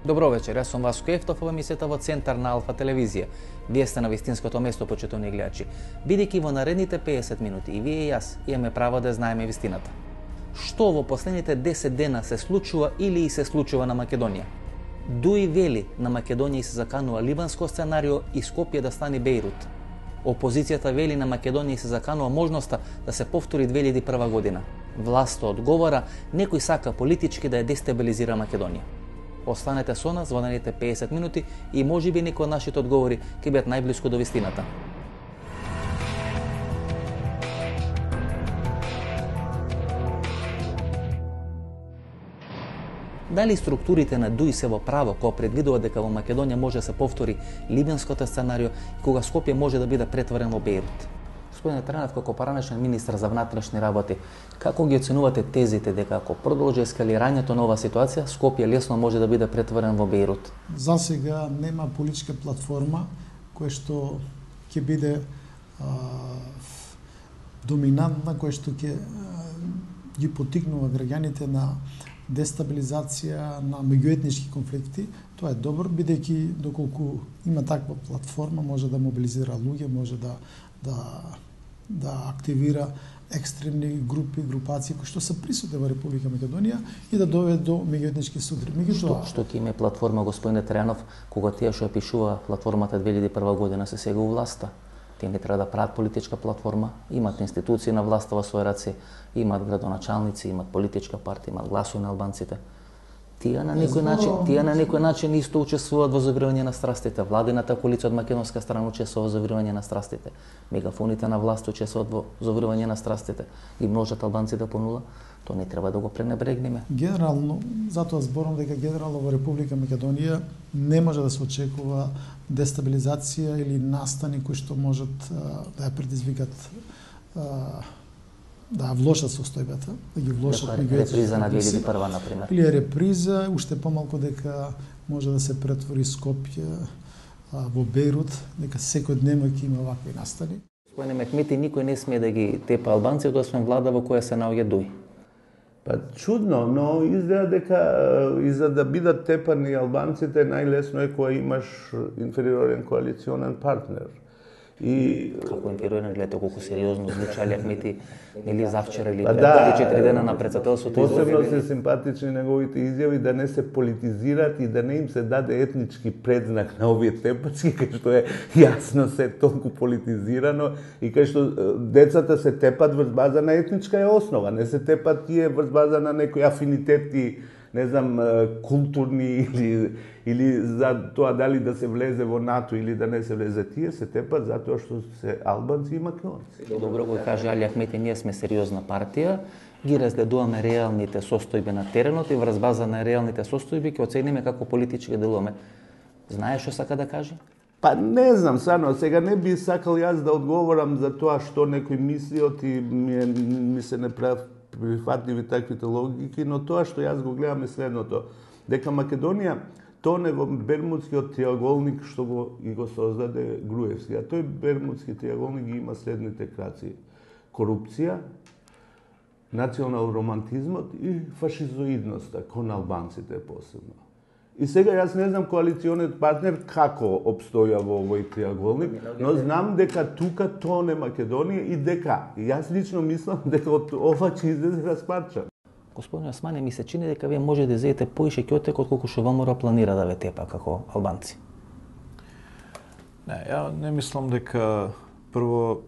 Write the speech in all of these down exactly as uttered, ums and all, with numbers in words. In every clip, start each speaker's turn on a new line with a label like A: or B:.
A: Добро вечер, јас сум Васко Ефтов, ова емисијата во центар на Алфа телевизија. Вие сте на вистинското место, почитувани гледачи. Бидејќи во наредните песет минути и вие и јас имаме право да знаеме вистината. Што во последните десет дена се случува или и се случува на Македонија? Дуи вели на Македонија и се заканува либанско сценарио и Скопје да стане Бејрут. Опозицијата вели на Македонија и се заканува можноста да се повтори две илјади и прва година. Власта одговора, некој сака политички да ја дестабилизира Македонија. Останете со нас во наредните песет минути и можеби некој од нашите одговори ќе бидат најблиску до вистината. Дали структурите на ДУИ се во право кога предвидува дека во Македонија може да се повтори либенското сценарио и кога Скопје може да биде претворен во Бејрут? Господине Тренов, како поранешен министар за внатрешни работи, како ги оценувате тезите дека ако продолжи ескалирањето на оваа ситуација, Скопје лесно може да биде претворен во Бејрут?
B: За сега нема политичка платформа која што ќе биде а, доминантна, која што ќе ги поттикнува граѓаните на дестабилизација, на меѓуетнички конфликти. Тоа е добро, бидејќи доколку има таква платформа, може да мобилизира луѓе, може да да да активира екстремни групи, групации кои што се присутни во Република Македонија и да доведе до меѓуетнички судри.
A: Меѓутоа, што, што ќе има платформа, господине Тренов, кога тие што ја пишува платформата две илјади и прва година се сега у власта? Тие не треба да прават политичка платформа, имат институции на власта во своји раце, имат градоначалници, имат политичка партија, имат гласови на албанците. Тие на некој начин, тие на некој начин исто учествуваат во завирување на страстите. Владината коалиција од македонска страна учествува во завирување на страстите. Мегафоните на власт учествуваат во завирување на страстите. И множат албанците по нула. Тоа не треба да го пренебрегнеме.
B: Генерално, затоа зборам дека генерално во Република Македонија не може да се очекува дестабилизација или настани кои што можат да ја предизвикат да влошат состојбата, да ги влошат
A: меѓуетнички. Реприза на две илјади и прва, например.
B: Или реприза, уште помалку дека може да се претвори Скопје а, во Бејрут, дека секој дневно ќе има вакви настани.
A: Господине Мехмети, никој не смее да ги тепа албанци, освен влада во која се наоѓа ДУИ.
C: Па чудно, но изгледа дека и за да бидат тепани албанците најлесно е кога имаш инфериорен коалиционен партнер.
A: И како инфериорен, гледате колку сериозно звучи Али Ахмети, или завчера или пред да, четири дена на председателството.
C: Посебно се симпатични неговите изјави да не се политизираат и да не им се даде етнички предзнак на овие тепачки, кај што е јасно се толку политизирано и кај што децата се тепат врз база на етничка е основа, не се тепат тие врз база на некои афинитети, не знам, културни или или за тоа дали да се влезе во НАТО или да не се влезе, тие се тепат затоа што се албанци и македонци.
A: Добро го каже Али Ахмети, ние сме сериозна партија, ги разгледуваме реалните состојби на теренот и врз база на реалните состојби ќе оцениме како политички делуваме. Знаеш што сака да каже?
C: Па не знам, сано, сега не би сакал јас да одговорам за тоа што некои мислиот и ми, ми се не прав прифатливи таквите логики, но тоа што јас го гледам е следното, дека Македонија тоне во Бермудскиот триаголник што го и го создаде Груевски, а тој Бермудски триаголник ги има следните краци: корупција, национал романтизмот и фашизоидноста кон албанците посебно. И сега јас не знам коалициониот партнер како обстоја во овој триаголник, но знам дека тука тоне Македонија и дека јас лично мислам дека од ова ќе излезе распарча.
A: Господин Османи, ми се чини дека вие може да изедете поише ќотек од колку што ВМРО планира да ве тепа како албанци.
D: Не, ја не мислам дека прво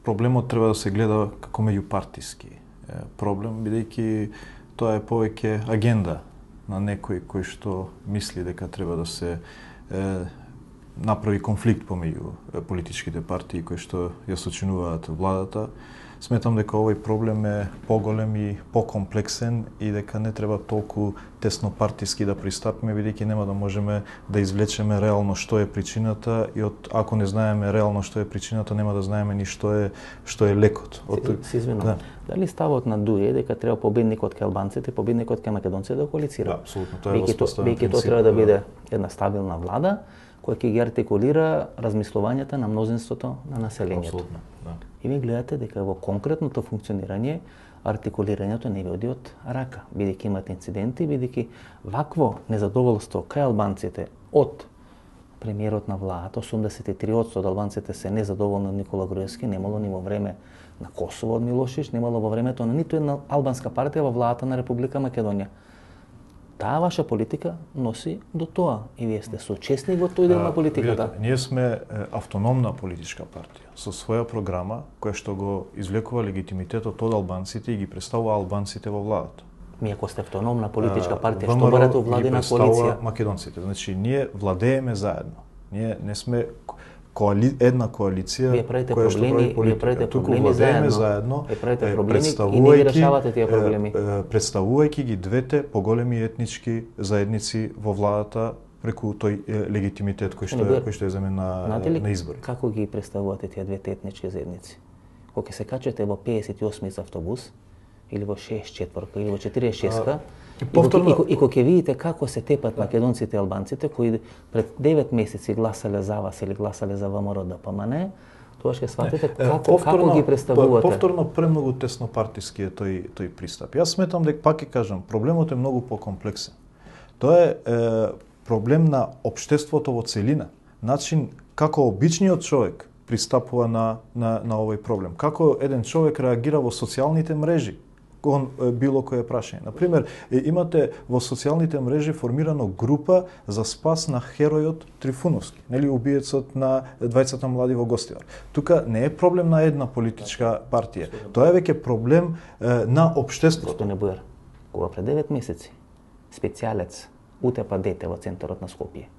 D: проблемот треба да се гледа како меѓупартиски проблем, бидејќи тоа е повеќе агенда на некој кој што мисли дека треба да се е, направи конфликт помеѓу политичките партии кои што ја сочинуваат владата. Сметам дека овој проблем е поголем и покомплексен и дека не треба толку тесно партиски да пристапиме, бидејќи нема да можеме да извлечеме реално што е причината и од ако не знаеме реално што е причината, нема да знаеме ни што е што е лекот.
A: Од се извинувам. Да. Дали ставот на ДУИ е дека треба победникот кај албанците, победникот кај македонците да коалицира?
D: Да, апсолутно, тоа е воспоставен
A: принцип. Бејќи тоа треба да биде една стабилна влада која ќе ги артикулира размислувањата на мнозинството на населението.
D: Апсолутно, да.
A: И ви гледате дека во конкретното функционирање артикулирањето не ви оди од рака, бидејќи имате инциденти, бидејќи вакво незадоволство кај албанците од премиерот на владата, осумдесет и три одсто од албанците се незадоволни од Никола Груевски, немало ни во време на Косово од Милошевич, немало во времето на ниту една албанска партија во владата на Република Македонија. Таа ваша политика носи до тоа и вие сте соучесник во тој дел на политиката.
D: Видете, ние сме автономна политичка партија со своја програма која што го извлекува легитимитетот од албанците и ги представува албанците во владата.
A: Ми ако сте автономна политичка партија, што барате владина коалиција?
D: Македонците. Значи ние владееме заедно. Ние не сме коали... една коалиција
A: вие правите
D: која што прави политика.
A: Вие правите
D: Туку
A: проблеми
D: владееме
A: заедно.
D: заедно.
A: Вие правите проблеми и не ги решавате тие проблеми.
D: Представувајќи ги двете поголеми етнички заедници во владата преку тој легитимитет кој што е кој што е земен на на избори.
A: Како ги представувате тие двете етнички заедници? Кога се качате во пеесет и осми автобус или во шеесет и четвртка или во четиридесет и шеста, повторно... и, и кога ќе видите како се тепат македонците и албанците кои пред девет месеци гласале за вас или гласале за ВМРО да ПМН, тоа ќе сватите како повторно, како ги представувате.
D: Повторно премногу тесно партиски е тој тој пристап. Јас сметам дека пак ќе кажам, проблемот е многу покомплексен. Тоа е, е проблем на општеството во целина, начин како обичниот човек пристапува на на на овој проблем. Како еден човек реагира во социјалните мрежи кон било кое прашање. На пример, имате во социјалните мрежи формирано група за спас на херојот Трифуновски, нели убиецот на двајцата млади во Гостивар. Тука не е проблем на една политичка партија. Тоа е веќе проблем е, на општеството.
A: Господине Бујар, кога пред девет месеци специјалец утепа дете во центарот на Скопје,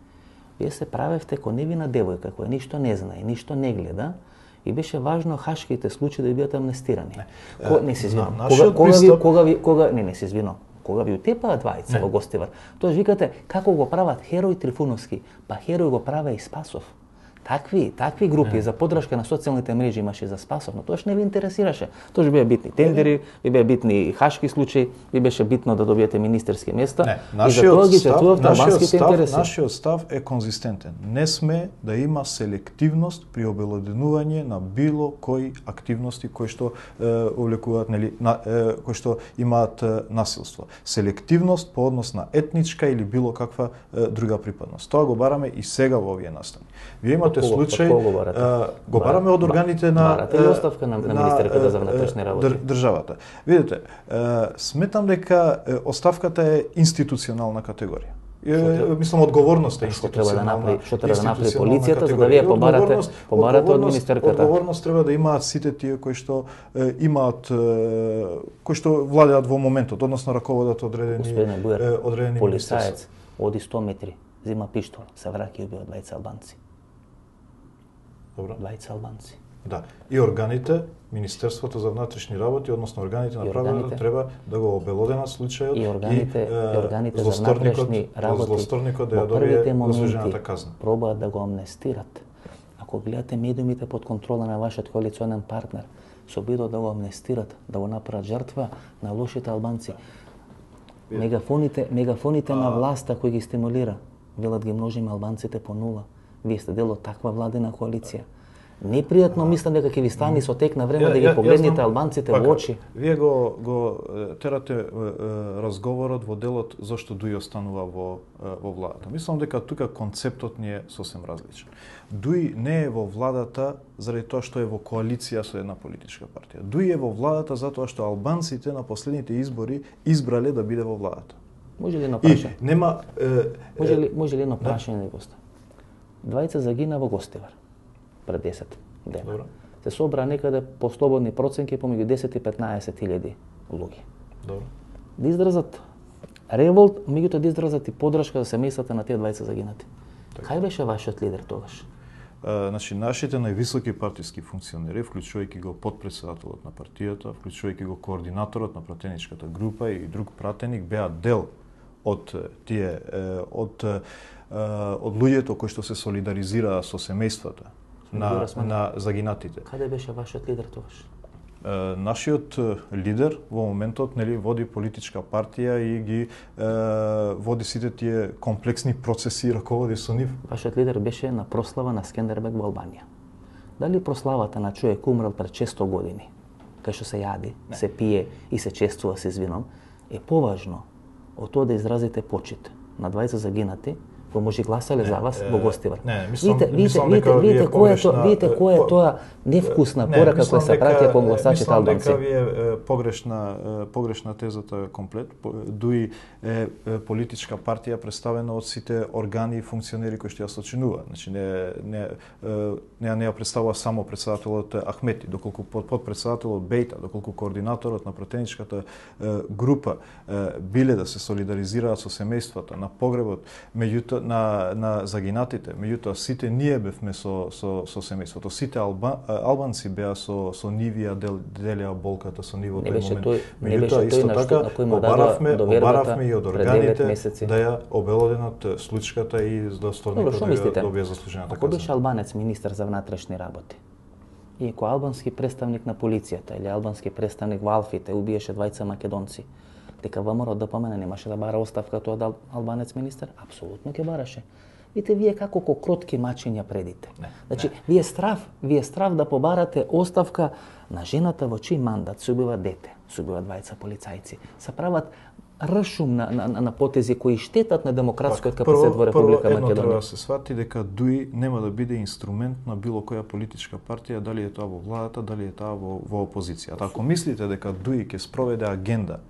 A: вие се правевте ко невина девојка која ништо не знае, ништо не гледа, и беше важно хашките случаи да бидат амнестирани. Не, Ко, не се извинам. Кога, кога, ви, кога ви кога не не се извинам. Кога ви утепаат двајца во Гостивар, тоа викате како го прават Херој Трифуновски, па Херој го праве и Спасов. Такви, такви групи не. За поддршка на социјалните мрежи имаше за Спасов, но тоаш не ви интересираше. Тоа беа битни тендери, ви беа битни хашки случаи, ви беше битно да добиете министерски места.
D: Не,
A: и за тоа ги жртвувавте албанските
D: став,
A: интереси.
D: Нашиот став е конзистентен. Не сме да има селективност при обелоденување на било кои активности кои што е, увлекуваат, нели, на, е, кои што имаат е, насилство. Селективност по однос на етничка или било каква е, друга припадност. Тоа го бараме и сега во овие настани. Вие имате кого, случај, го, а, го бараме од органите на
A: барате ли оставка на, на министерката за внатрешни работи?
D: Држ, државата. Видите, а, сметам дека оставката е институционална категорија. Е, мислам одговорност е институционална.
A: Што треба да направи полицијата за да вие побарате побарате од министерката?
D: Одговорност треба да имаат сите тие кои што е, имаат е, кои што владеат во моментот, односно раководат одредени
A: Бујар,
D: одредени
A: полицаец оди сто метри, зема пиштол, се враќа и убива двајца албанци.
D: Добро.
A: Двајца албанци.
D: Да. И органите, Министерството за внатрешни работи, односно органите на правото треба да го обелоденат случајот
A: и органите, и,
D: и
A: органите за внатрешни работи
D: злосторникот да ја добие заслужената казна.
A: Пробаат да го амнестират. Ако гледате медиумите под контрола на вашиот коалиционен партнер, се обидот да го амнестират, да го направат жртва на лошите албанци. Мегафоните, мегафоните а... на власта кои ги стимулира, велат ги множиме албанците по нула. Вие сте дел од таква владина коалиција. Непријатно мислам дека ќе ви стане со тек на време
D: ја,
A: да ги
D: ја,
A: погледнете
D: знам,
A: албанците
D: пака,
A: во очи.
D: Вие го го терате е, разговорот во делот зашто Дуј останува во во владата. Мислам дека тука концептот ни е сосем различен. Дуј не е во владата заради тоа што е во коалиција со една политичка партија. Дуј е во владата затоа што албанците на последните избори избрале да биде во владата.
A: Може ли едно прашање?
D: И нема е,
A: може ли може ли едно прашање да госта? Двајца загина во Гостивар пред десет дена. Добро. Се собра некаде по слободни проценки помеѓу десет и петнаесет илјади луѓе.
D: Добро.
A: Да изразат револт, меѓутоа да изразат и поддршка за семејствата на тие двајца загинати. Така. Кај беше вашиот лидер тогаш?
D: А, значи, нашите највисоки партиски функционери, вклучувајќи го потпредседателот на партијата, вклучувајќи го координаторот на пратеничката група и друг пратеник, беа дел од тие од од луѓето кои што се солидаризираа со семејствата на на загинатите.
A: Каде беше вашиот лидер тогаш?
D: Нашиот лидер во моментот нели води политичка партија и ги е, води сите тие комплексни процеси и раководи со нив.
A: Вашиот лидер беше на прослава на Скендербег во Албанија. Дали прославата на човек умрел пред шесто години кај што се јади, не. се пие и се чествува се вином, е поважно од тоа да изразите почит на двајца загинати, кои може гласале за вас во Гостивар.
D: Не, мислам,
A: видите,
D: мислам
A: видите,
D: дека
A: видите, која
D: погрешна,
A: тоа, видите која е тоа невкусна порака која се праќа кон гласачите албанци.
D: Мислам дека ви е погрешна, погрешна тезата комплет. Дуи е политичка партија представена од сите органи и функционери кои што ја сочинуваат. Значи не не не не ја представува само претседателот Ахмети, доколку подпредседателот Бејта, доколку координаторот на пратеничката група биле да се солидаризираат со семејствата на погребот, меѓутоа на на загинатите, меѓутоа сите ние бевме со со со семејството, сите алба, албанци беа со со нивија дел, делеа болката со нивото
A: и
D: момент.
A: Тој, не беше тој на што на кој му дадува
D: довербата и од органите да ја обелоденат случката и достојникот да ја добие заслужената
A: казна. Ако беше
D: казна.
A: албанец министер за внатрешни работи и ако албански представник на полицијата или албански представник во Алфите убиеше двајца македонци, дека ВМРО ДПМН немаше да бара оставка тоа од албанец министер? Апсолутно ќе бараше. Видите, вие како ко кротки мачиња предите. Не, значи, не. вие страв, вие страв да побарате оставка на жената во чиј мандат се убива дете, се убива двајца полицајци, се прават ршум на, на, на потези кои штетат на демократскиот капацитет во Република
D: Македонија. Прво, едно
A: Македонија.
D: треба да се свати дека ДУИ нема да биде инструмент на било која политичка партија, дали е тоа во владата, дали е тоа во, во опозицијата. Ако мислите дека ДУИ ќе спроведе агенда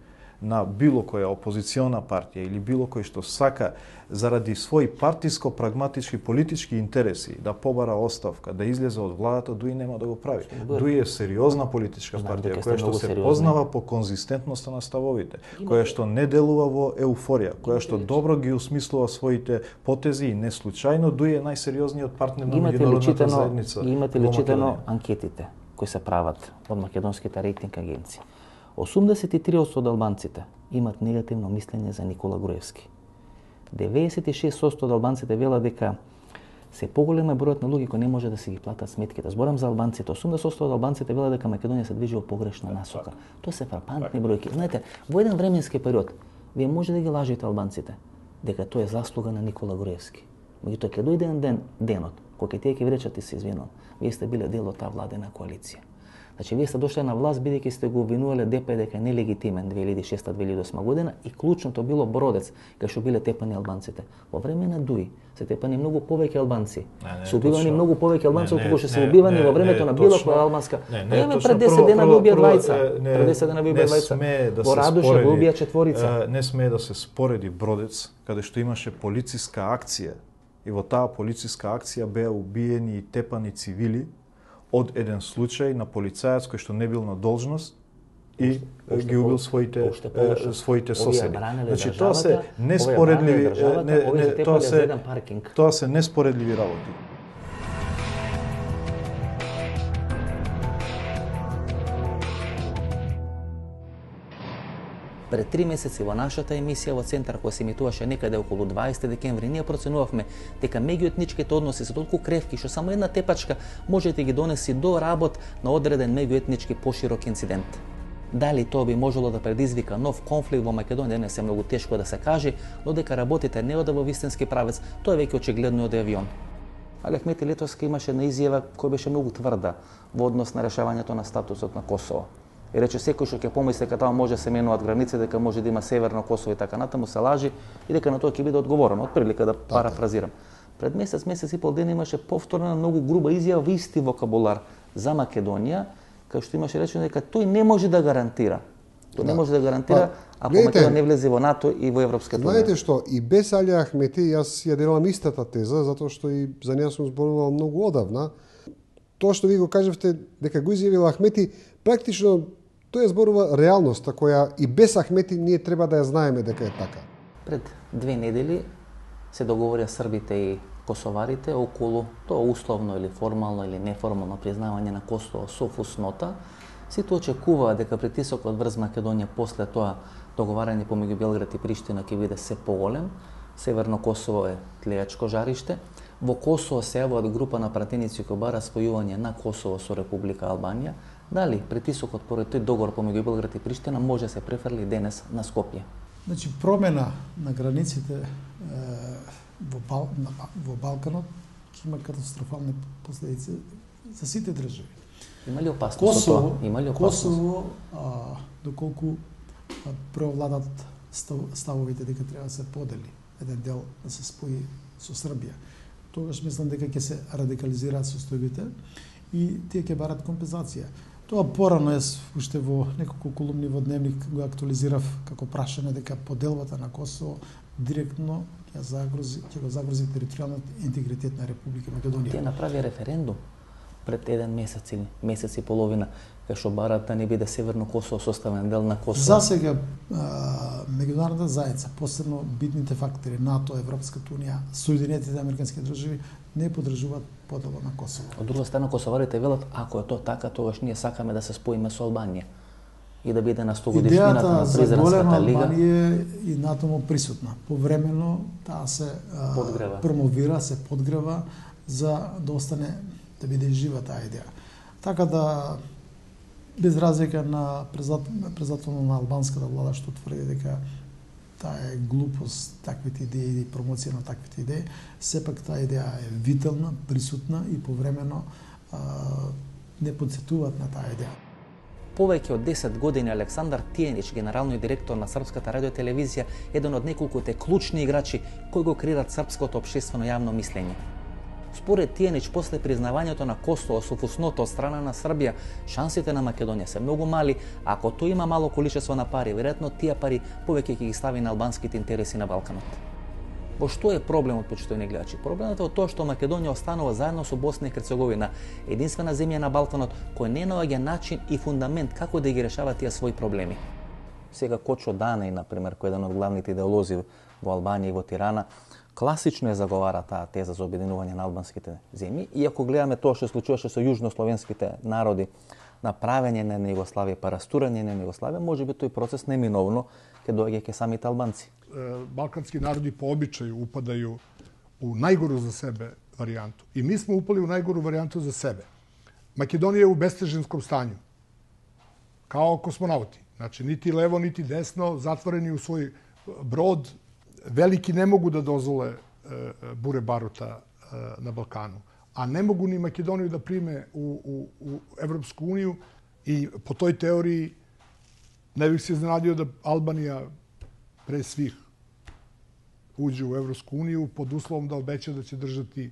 D: на било која опозициона партија или било кој што сака заради своји партиско-прагматички политички интереси да побара оставка, да излезе од владата, ДУИ нема да го прави. ДУИ е сериозна политичка партија која што се сериозни. познава по конзистентноста на ставовите, која што не делува во еуфорија, која што добро ги усмислува своите потези и не случајно ДУИ е најсериозниот партнер на меѓународната заедница.
A: Имате ли читано анкетите кои се прават од македонските рейтинг агенции? осумдесет и три одсто од албанците имат негативно мислење за Никола Груевски. деветдесет и шест одсто од албанците велат дека се поголема бројот на луѓе кои не може да си ги платат сметките. Зборам за албанците. осумдесет одсто од албанците велат дека Македонија се движи во погрешна насока. Тоа се фрапантни бројки. Знаете, во еден временски период вие може да ги лажете албанците дека тоа е заслуга на Никола Груевски. Меѓутоа ќе дојде еден ден, денот, кога тие ќе ви речат и се извинувам, вие сте биле дел од таа владена коалиција. Значи, вие сте дошле на власт бидејќи сте го обвинувале ДП дека е нелегитимен две илјади и шеста - две илјади и осма година и клучното било Бродец, кај што биле тепани албанците. Во време на ДУИ се тепани многу повеќе албанци. Не, не, се убивани точно. многу повеќе албанци отколку што се убивани во времето на било која албанска.
D: Не, не,
A: не пред десет дена го убија двајца. Пред десет дена го убија двајца. Во Радуша го убија четворица.
D: Не смее да се спореди Бродец, каде што имаше полициска акција и во таа полициска акција беа убиени и тепани цивили од еден случај на полицаец кој што не бил на должност и оште, ги убил своите е, своите соседи. Значи тоа се неспоредливи не, не, тоа се тоа се неспоредливи работи.
A: Пред три месеци во нашата емисија во Центар, која се емитуваше некаде околу дваесети декември, ние проценувавме дека меѓуетничките односи се толку кревки што само една тепачка може да ги донеси до работ на одреден меѓуетнички поширок инцидент. Дали тоа би можело да предизвика нов конфликт во Македонија, не се многу тешко да се каже, но дека работите не ода во вистински правец, тоа е веќе очигледно од авион. Али Ахмети летоска имаше една изјава која беше многу тврда во однос на решавањето на статусот на Косово. И рече секој што ќе помисли дека таа може се менуваат граници, дека може да има северно Косово и така натаму се лажи и дека на тоа ќе биде одговорено. Од прилика да парафразирам. Пред месец, месец и пол ден имаше повторна многу груба изјава во исти вокабулар за Македонија, кај што имаше речено дека тој не може да гарантира. Тој да. не може да гарантира па, ако Македонија не влезе во НАТО и во Европската унија.
E: Знаете што, и без Али Ахмети јас ја делам истата теза, затоа што и за неја сум зборувал многу одавна. Тоа што ви го кажавте дека го изјавил Ахмети, практично тоа зборува реалноста која и без Ахмети ние треба да ја знаеме дека е така.
A: Пред две недели се договорија србите и косоварите околу тоа условно или формално или неформално признавање на Косово со фуснота. Сите очекуваа дека притисокот врз Македонија после тоа договарање помеѓу Белград и Приштина ќе биде се поголем. Северно Косово е тлејачко жариште. Во Косово се јавуваат група на пратеници кои бара спојување на Косово со Република Албанија. Дали притисокот поред тој договор помеѓу Белград и Приштина може се префрли денес на Скопје?
B: Значи промена на границите е, во, Бал, на, во Балканот ќе има катастрофални последици за сите држави.
A: Има ли опасност
B: Косово,
A: од тоа? Има ли опасност?
B: Косово, а, доколку преовладат ставовите дека треба да се подели еден дел да се спои со Србија, тогаш мислам дека ќе се радикализираат состојбите и тие ќе барат компензација. Тоа порано е уште во неколку колумни во Дневник го актуализирав како прашање дека поделбата на Косово директно ќе загрози ќе го загрози територијалниот интегритет на Република Македонија.
A: Тие направи референдум пред еден месец или месец и половина, кај што барат да не биде Северно Косово составен дел на Косово.
B: За сега меѓународната заедница, посебно битните фактори НАТО, Европската унија, Соединетите американски држави не поддржуваат поделба на Косово.
A: Од друга страна косоварите велат ако е тоа така, тогаш ние сакаме да се споиме со Албанија и да биде на сто годишнината на Призренската лига.
B: Албанија и НАТО му присутна. Повремено таа се
A: подгрева.
B: промовира, се подгрева за да остане да биде жива таа идеја. Така да без разлика на председателот на албанската влада што тврди дека таа е глупост, таквите идеи и промоција на таквите идеи, сепак таа идеја е витална, присутна и повремено а, не подсетуваат на таа идеја.
A: Повеќе од десет години Александар Тијенич, генералниот директор на Српската радиотелевизија, еден од неколкуте клучни играчи кои го креират српското општествено јавно мислење. Според Тијенич, после признавањето на Косово со фусното од страна на Србија, шансите на Македонија се многу мали, ако тој има мало количество на пари, веројатно тие пари повеќе ќе ги стави на албанските интереси на Балканот. Во што е проблемот, почитувани гледачи? Проблемот е од тоа што Македонија останува заедно со Босна и Херцеговина, единствена земја на Балканот која не наоѓа начин и фундамент како да ги решава тие своји проблеми. Сега Кочо Данај, например, кој е еден од главните идеолози во Албанија и во Тирана, класично е заговара таа теза за обединување на албанските земји, и ако гледаме тоа што случуваше со јужнословенските народи на правење на Југославија, па растурање на Југославија, можеби тој процес неминовно ќе доаѓа ке самите албанци.
F: Балкански народи по обичају упадају у најгору за себе варијанту. И ми сме упали у најгору варијанту за себе. Македонија е у бестежинском стању. Као космонаути. Значи, нити лево, нити десно, затворени у свој брод, велики не могу да дозволе буре барута на Балкану. А не могу ни Македонiju да приме у, у, у Европску унiju и по тој теорiji ne bih se iznenadio da Albanija pre svih uđe u Evropsku uniju pod uslovom da obeća da će držati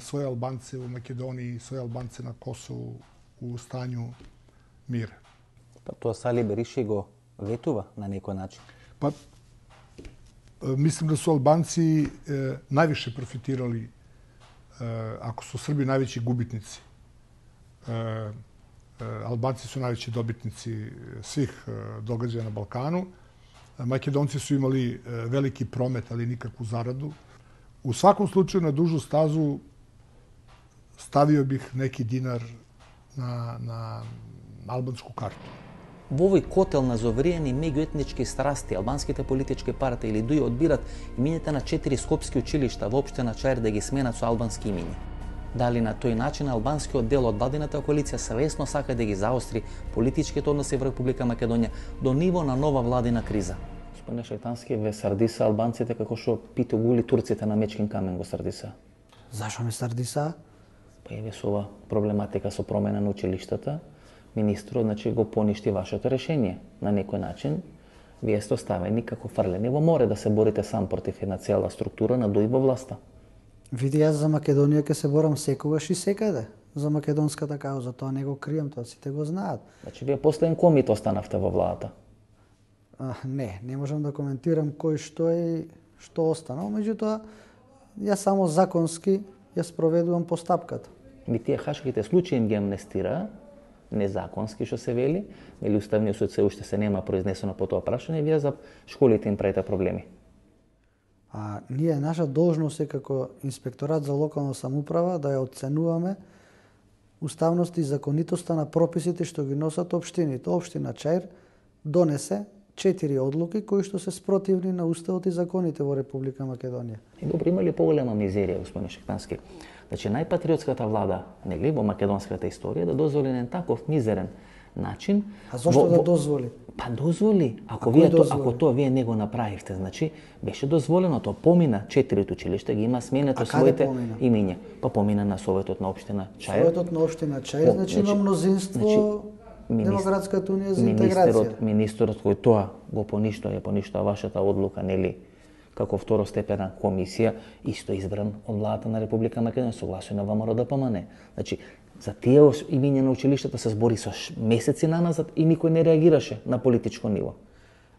F: svoje Albance u Makedoniji i svoje Albance na Kosovu u stanju mira.
A: Pa to Sali Berisha go vetува na neki način?
F: Pa mislim da su Albanci najviše profitirali, ako su Srbi najveći gubitnici. Albanci su najveći dobitnici svih događaja na Balkanu. Makedonci su imali veliki promet, ali nikakvu zaradu. U svakom slučaju, na dužu stazu stavio bih neki dinar na, na albansku kartu.
A: Во овој котел на зовриени меѓуетнички страсти, албанските политички партии или дуи одбират имените на четири скопски училишта во општина Чаир да ги сменат со албански имиња. Дали на тој начин албанскиот дел од владината коалиција свесно сака да ги заостри политичките односи во Република Македонија до ниво на нова владина криза? Господине Шајтански, ве сардиса албанците како што пите гули турците на Мечкин камен го сардиса?
G: Зашо ме сардиса?
A: Па еве со ова проблематика со промена на училиштата, министрот значи го поништи вашето решение. На некој начин вие сте оставени како фрлени во море да се борите сам против една цела структура на дуи во власта.
G: Види, јас за Македонија ќе се борам секогаш и секаде. За македонската кауза, тоа не го крием, тоа сите го знаат.
A: Значи вие последен комит останавте во владата?
G: А, не, не можам да коментирам кој што е, што останал, меѓутоа јас само законски ја спроведувам постапката.
A: Ми тие хашките случаи им ги амнестира, незаконски што се вели, или Уставниот суд се уште се нема произнесено по тоа прашање, вие за школите им правите проблеми.
G: А ние, наша должност е како инспекторат за локална самоуправа да ја оценуваме уставност и законитоста на прописите што ги носат општините. Општина Чаир донесе четири одлуки кои што се спротивни на уставот и законите во Република Македонија.
A: И добро, има ли поголема мизерија, господин Шајтански? Значи, најпатриотската влада, нели, во македонската историја да дозволи на таков мизерен начин.
G: А зошто
A: во,
G: да
A: во,
G: дозволи?
A: Па дозволи. Ако
G: А
A: вие
G: кој
A: то,
G: дозволи?
A: ако тоа вие не го направивте, значи беше дозволено, тоа помина четирите училишта, ги има сменето
G: А каде
A: своите
G: помина?
A: имиња. Па помина на Советот на општина Чај.
G: Советот на општина Чај,
A: По-
G: значи има
A: значи-
G: мнозинство
A: значи,
G: Демократската унија за
A: Министерот,
G: интеграција.
A: министерот кој тоа го поништува, ја поништува вашата одлука, нели, како второстепена комисија, исто избран од владата на Република Македонија, согласен на ВМРО да помане. Значи, за тие ос- имиња на училиштата се збори со ш- месеци наназад и никој не реагираше на политичко ниво.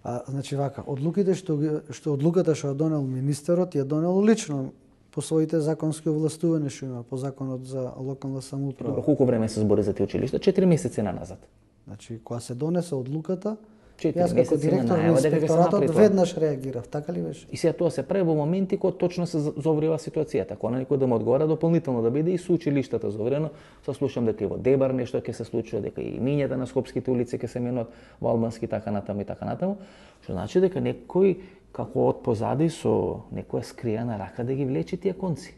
G: А, значи вака, одлуките што ги- што одлуката што ја донел министерот ја донел лично по своите законски овластувања што има по законот за локална самоуправа.
A: Добро, колку време се збори за тие училишта? четири месеци наназад.
G: Значи, кога се донесе одлуката,
A: Четири
G: јас како
A: месеци на
G: директор на
A: најава дека ќе се направи
G: инспекторатот
A: тоа.
G: веднаш реагирав, така ли беше?
A: И сега тоа се прави во моменти кога точно се зоврива ситуацијата. Кога на некој да му одговара дополнително да биде и со училиштата зоврено, се слушам дека и во Дебар нешто ќе се случува, дека и имињата на скопските улици ќе се менат во албански така натаму и така натаму, што значи дека некој како од позади со некоја скриена рака да ги влечи тие конци.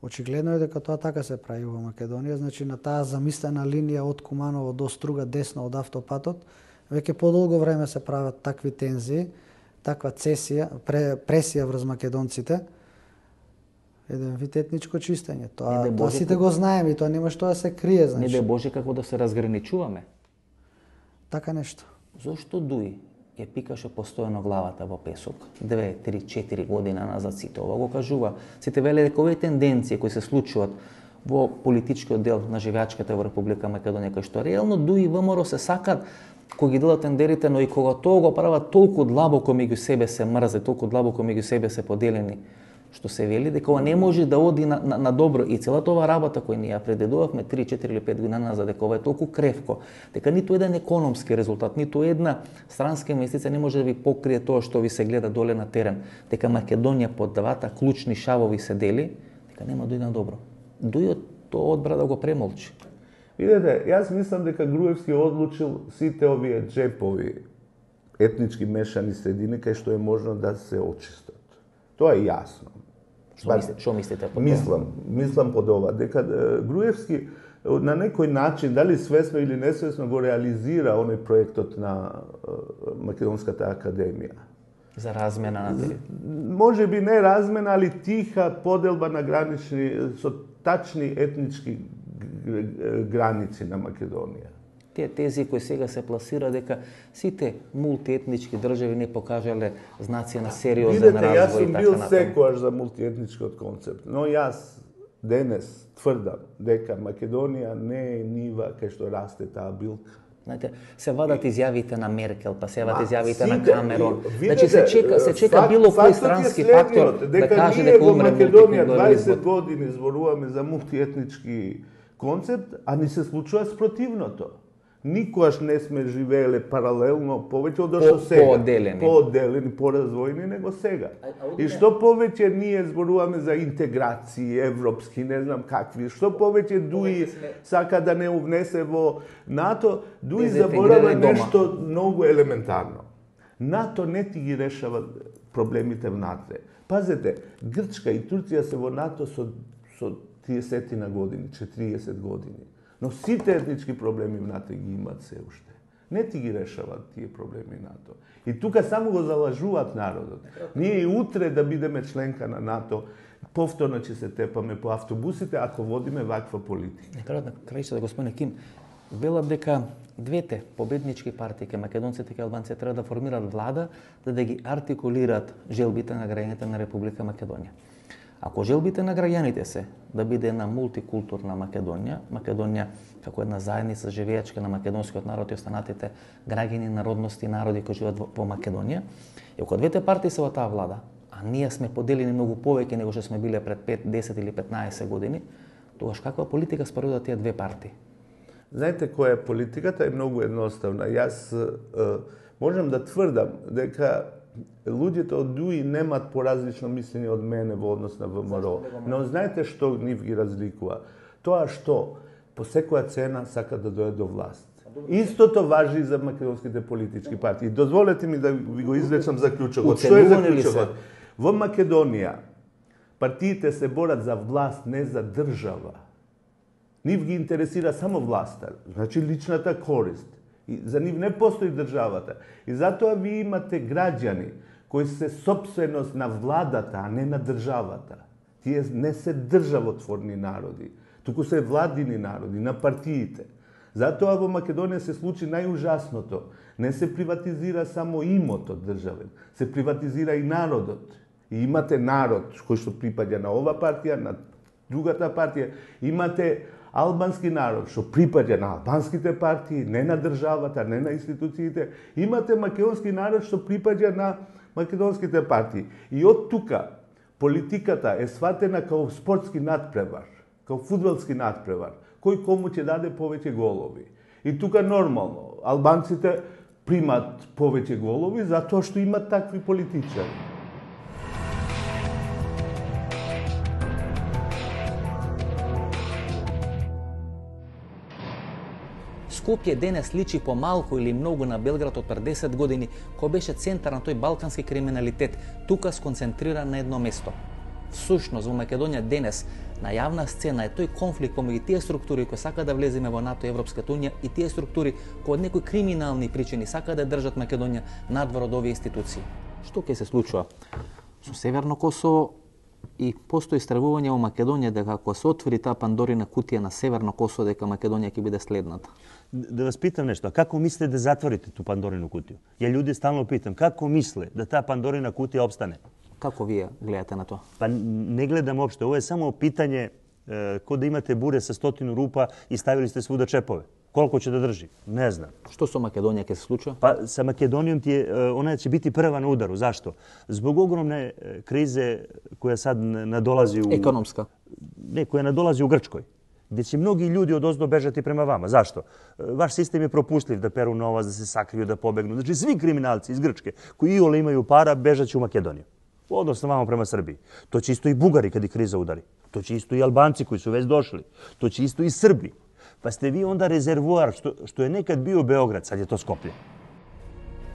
G: Очигледно е дека тоа така се прави во Македонија, значи на таа замислена линија од Куманово до Струга десно од автопатот, веќе подолго време се прават такви тензии, таква цесија, пре, пресија врз македонците, еден вид етничко чистење. Тоа,
A: Не, да
G: тоа
A: Боже,
G: сите го знаеме и тоа нема што да се крие,
A: Не
G: значи.
A: да Боже како да се разграничуваме.
G: Така нешто.
A: Зошто Дуи ја пикаше постојано главата во песок, две, три, четири година назад сите ова го кажува. Сите веле дека овие тенденции кои се случуваат во политичкиот дел на живеачката во Република Македонија, кај што реално Дуи и ВМРО се сакат кога ги делат тендерите, но и кога тоа го прават толку длабоко меѓу себе се мрзе, толку длабоко меѓу себе се поделени, што се вели дека ова не може да оди на, на, на добро. И целата ова работа која ние ја предедувавме три, четири или пет година назад, дека ова е толку кревко, дека ниту еден економски резултат, ниту една странска инвестиција не може да ви покрие тоа што ви се гледа доле на терен, дека Македонија под двата клучни шавови се дели, дека нема да иде на добро. Дујот тоа одбра да го премолчи.
C: Видете, јас мислам дека Груевски одлучил сите овие джепови етнички мешани средини кај што е можно да се очистат. Тоа е јасно.
A: Што мислите, што мислите по тоа?
C: Мислам, мислам под ова, дека е, Груевски е, на некој начин, дали свесно или несвесно, го реализира оној проектот на е, Македонската академија.
A: За размена на тери.
C: Може би не размена, али тиха поделба на гранични, со тачни етнички граници на Македонија.
A: Тие тези кои сега се пласира дека сите мултиетнички држави не покажале знаци на сериозен
C: Видете, јас
A: развој и
C: сум
A: така
C: бил
A: натаму.
C: секојаш за мултиетничкиот концепт, но јас денес тврдам дека Македонија не е нива кај што расте таа билка.
A: Знаете, се вадат изјавите на Меркел, па се вадат
C: Ма,
A: изјавите на
C: сите,
A: Камерон.
C: видете,
A: Значи се чека, се чека
C: факт-
A: било кој
C: фактот е
A: странски
C: следниот,
A: фактор да каже
C: ние
A: дека
C: во
A: умре
C: Македонија
A: мултикултурализмот.
C: дваесет години зборуваме за мултиетнички концепт, а ни се случува спротивното. Никогаш не сме живееле паралелно повеќе од што
A: По-
C: сега.
A: поодделени.
C: Поодделени, поразвојни него сега. И што повеќе ние зборуваме за интеграции европски, не знам какви, што повеќе Дуи сака да не увнесе во НАТО, Дуи заборава
A: Дезинтегрирани дома.
C: нешто многу елементарно. НАТО не ти ги решава проблемите внатре. Пазете, Грчка и Турција се во НАТО со, со триесет на години, четириесет години. Но сите етнички проблеми внатре ги имаат се уште. Не ти ги решават тие проблеми НАТО. И тука само го залажуваат народот. Ние и утре да бидеме членка на НАТО, повторно ќе се тепаме по автобусите ако водиме ваква политика.
A: На крајот на крајшата, господине Ким, велат дека двете победнички партии, ке македонците и албанците, треба да формираат влада, да да ги артикулираат желбите на граѓаните на Република Македонија. Ако желбите на граѓаните се да биде една мултикултурна Македонија, Македонија како една заедница живеачка на македонскиот народ и останатите граѓани, народности и народи кои живеат во, во Македонија, и ако двете партии се во таа влада, а ние сме поделени многу повеќе него што сме биле пред пет, десет или петнаесет години, тогаш каква политика спроведуваат тие две партии?
C: Знаете која е политиката? Е многу едноставна. Јас е, можам да тврдам дека луѓето од Дуи немат поразлично мислење од мене во однос на ВМРО. Но знаете што нив ги разликува? Тоа што по секоја цена сака да дојде до власт. Истото важи и за македонските политички партии. Дозволете ми да ви го извлечам заклучокот. Што е
A: Уценувани ли се?
C: заклучокот? Во Македонија партиите се борат за власт, не за држава. Нив ги интересира само власта, значи личната корист. И за нив не постои државата. И затоа ви имате граѓани кои се сопственост на владата, а не на државата. Тие не се државотворни народи, туку се владини народи, на партиите. Затоа во Македонија се случи најужасното. Не се приватизира само имото државен, се приватизира и народот. И имате народ кој што припаѓа на ова партија, на другата партија. Имате албански народ што припаѓа на албанските партии, не на државата, не на институциите. Имате македонски народ што припаѓа на македонските партии. И од тука политиката е сватена како спортски надпревар, како фудбалски надпревар, кој кому ќе даде повеќе голови. И тука нормално, албанците примат повеќе голови затоа што имат такви политичари.
A: Скопје денес личи помалку или многу на Белград од пред десет години, кој беше центар на тој балкански криминалитет, тука сконцентриран на едно место. Всушност, во Македонија денес, на јавна сцена е тој конфликт помеѓу тие структури кои сака да влеземе во НАТО и Европската унија и тие структури кои од некои криминални причини сака да држат Македонија надвор од овие институции. Што ќе се случува со Северно Косово? И постои стравување во Македонија дека ако се отвори таа Пандорина кутија на Северно Косово, дека Македонија ќе биде следната.
H: Да вас питам нешто, како мислите да затворите ту Пандорину кутија? Ја луѓе стално питам, како мисле да таа Пандорина кутија обстане?
A: Како вие гледате на тоа?
H: Па не гледам општо, ова е само питање е, кој да имате буре со стотину рупа и ставили сте свуда чепове. Колку ќе да држи? Не знам.
A: Што со Македонија ќе се случува?
H: Па со Македонијом ти е, она ќе biti прва на удару. Зашто? Због огромне кризе која сад надолази у
A: економска.
H: Не, која надолази у Грчкој. Где ќе многи луѓе од оздо бежати према вама. Зашто? Ваш систем е пропушлив да перу на вас, да се сакрију, да побегнат. Значи сви криминалци из Грчке кои иоле имају пара бежаće у Македонија. Односно вама према Србија. То ќе исто и бугари каде криза удари. То ќе исто и албанци кои су веќе дошли. То ќе исто и Срби. Па сте ви онда резервоар што, што е некад био Београд, сад е то Скопје.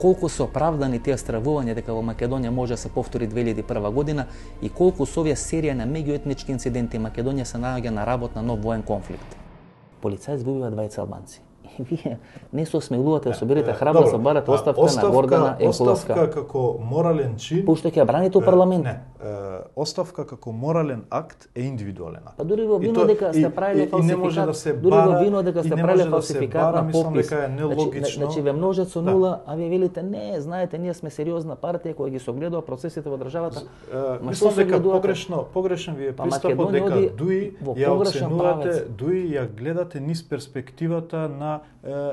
A: Колку се оправдани тие стравувања дека во Македонија може да се повтори две илјади и прва година и колку со овие серија на меѓуетнички инциденти Македонија се наоѓа на работ на нов воен конфликт. Полицаи избиваат двајца албанци. И вие не се осмелувате да соберете храброст да барате оставка, оставка на Гордана Екуловска.
D: Оставка како морален чин.
A: Пушто ќе ја браните у парламент.
D: Не, оставка како морален акт е индивидуален акт.
A: Па дури во вино дека сте правиле фалсификат,
D: да се
A: дури во вино дека сте правиле фалсификат
D: да
A: на попис.
D: Дека е нелогично.
A: Значи ве множат со нула, да. А вие велите не, знаете, ние сме сериозна партија која ги согледува процесите во државата.
D: Мислам дека погрешно, погрешен ви е пристапот дека дуи ја оценувате, дуи ја гледате низ перспективата на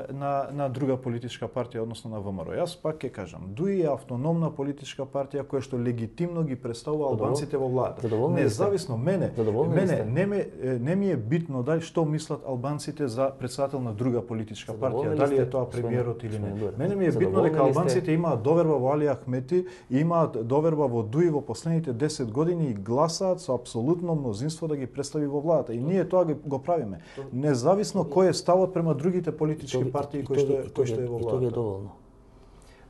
D: на на друга политичка партија, односно на ВМРО. Јас пак ќе кажам, дуи е автономна политичка партија која што легитимно ги представува албанците во владата. Независно мене, мене не, ме, не ми е битно дали што мислат албанците за председател на друга политичка партија, дали е тоа премиерот или не. Мене ми е битно дека албанците имаат доверба во Али Ахмети и имаат доверба во дуи во последните десет години и гласаат со апсолутно мнозинство да ги представи во владата. И ние тоа го правиме. Независно кој е ставот према другите политички партии кои што кои што е во владата.
A: Тоа е доволно.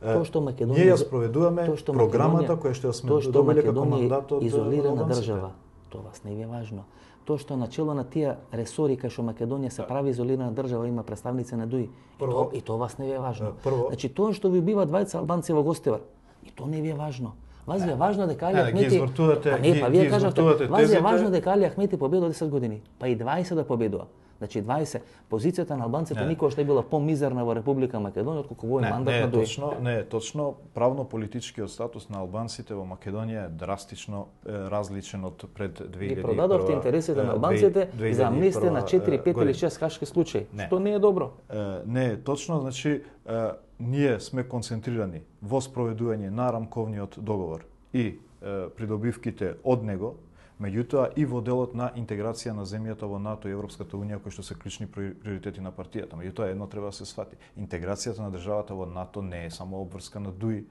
A: Тоа што Македонија
D: ние ја спроведуваме програмата која што ја сме добиле како мандат од
A: изолирана држава. Тоа вас не ви е важно. Тоа што начело на тие ресори кај што Македонија се прави изолирана држава има представници на ДУИ. Прво, и, то, и тоа вас не ви е важно.
D: Прво,
A: значи тоа што ви убива двајца албанци во Гостивар, и тоа не ви е важно. Вас ви е важно дека Али Ахмети
D: а
A: не, па вие кажавте, вас ви е важно дека Али Ахмети победува десет години, па и дваесет да победува. Значи дваесет позицијата на албанците никогаш не била помизерна во Република Македонија отколку во мандат
D: не,
A: на ДУИ.
D: Точно, не е точно. Правно-политичкиот статус на албанците во Македонија е драстично е, различен од пред две илјади и прва.
A: И продадовте интересите на албанците за амнестија на четири, пет или шест хашки случаи, не. Што не е добро.
D: Е, не е точно, значи е, ние сме концентрирани во спроведување на рамковниот договор и е, придобивките од него. Меѓутоа и во делот на интеграција на земјата во НАТО и Европската унија кои што се клучни приоритети на партијата. Меѓутоа едно треба да се сфати. Интеграцијата на државата во НАТО не е само обврска на ДУИ,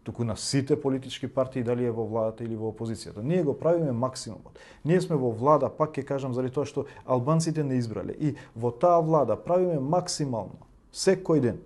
D: туку на сите политички партии, дали е во владата или во опозицијата. Ние го правиме максимумот. Ние сме во влада, пак ќе кажам заради тоа што албанците не избрале. И во таа влада правиме максимално секој ден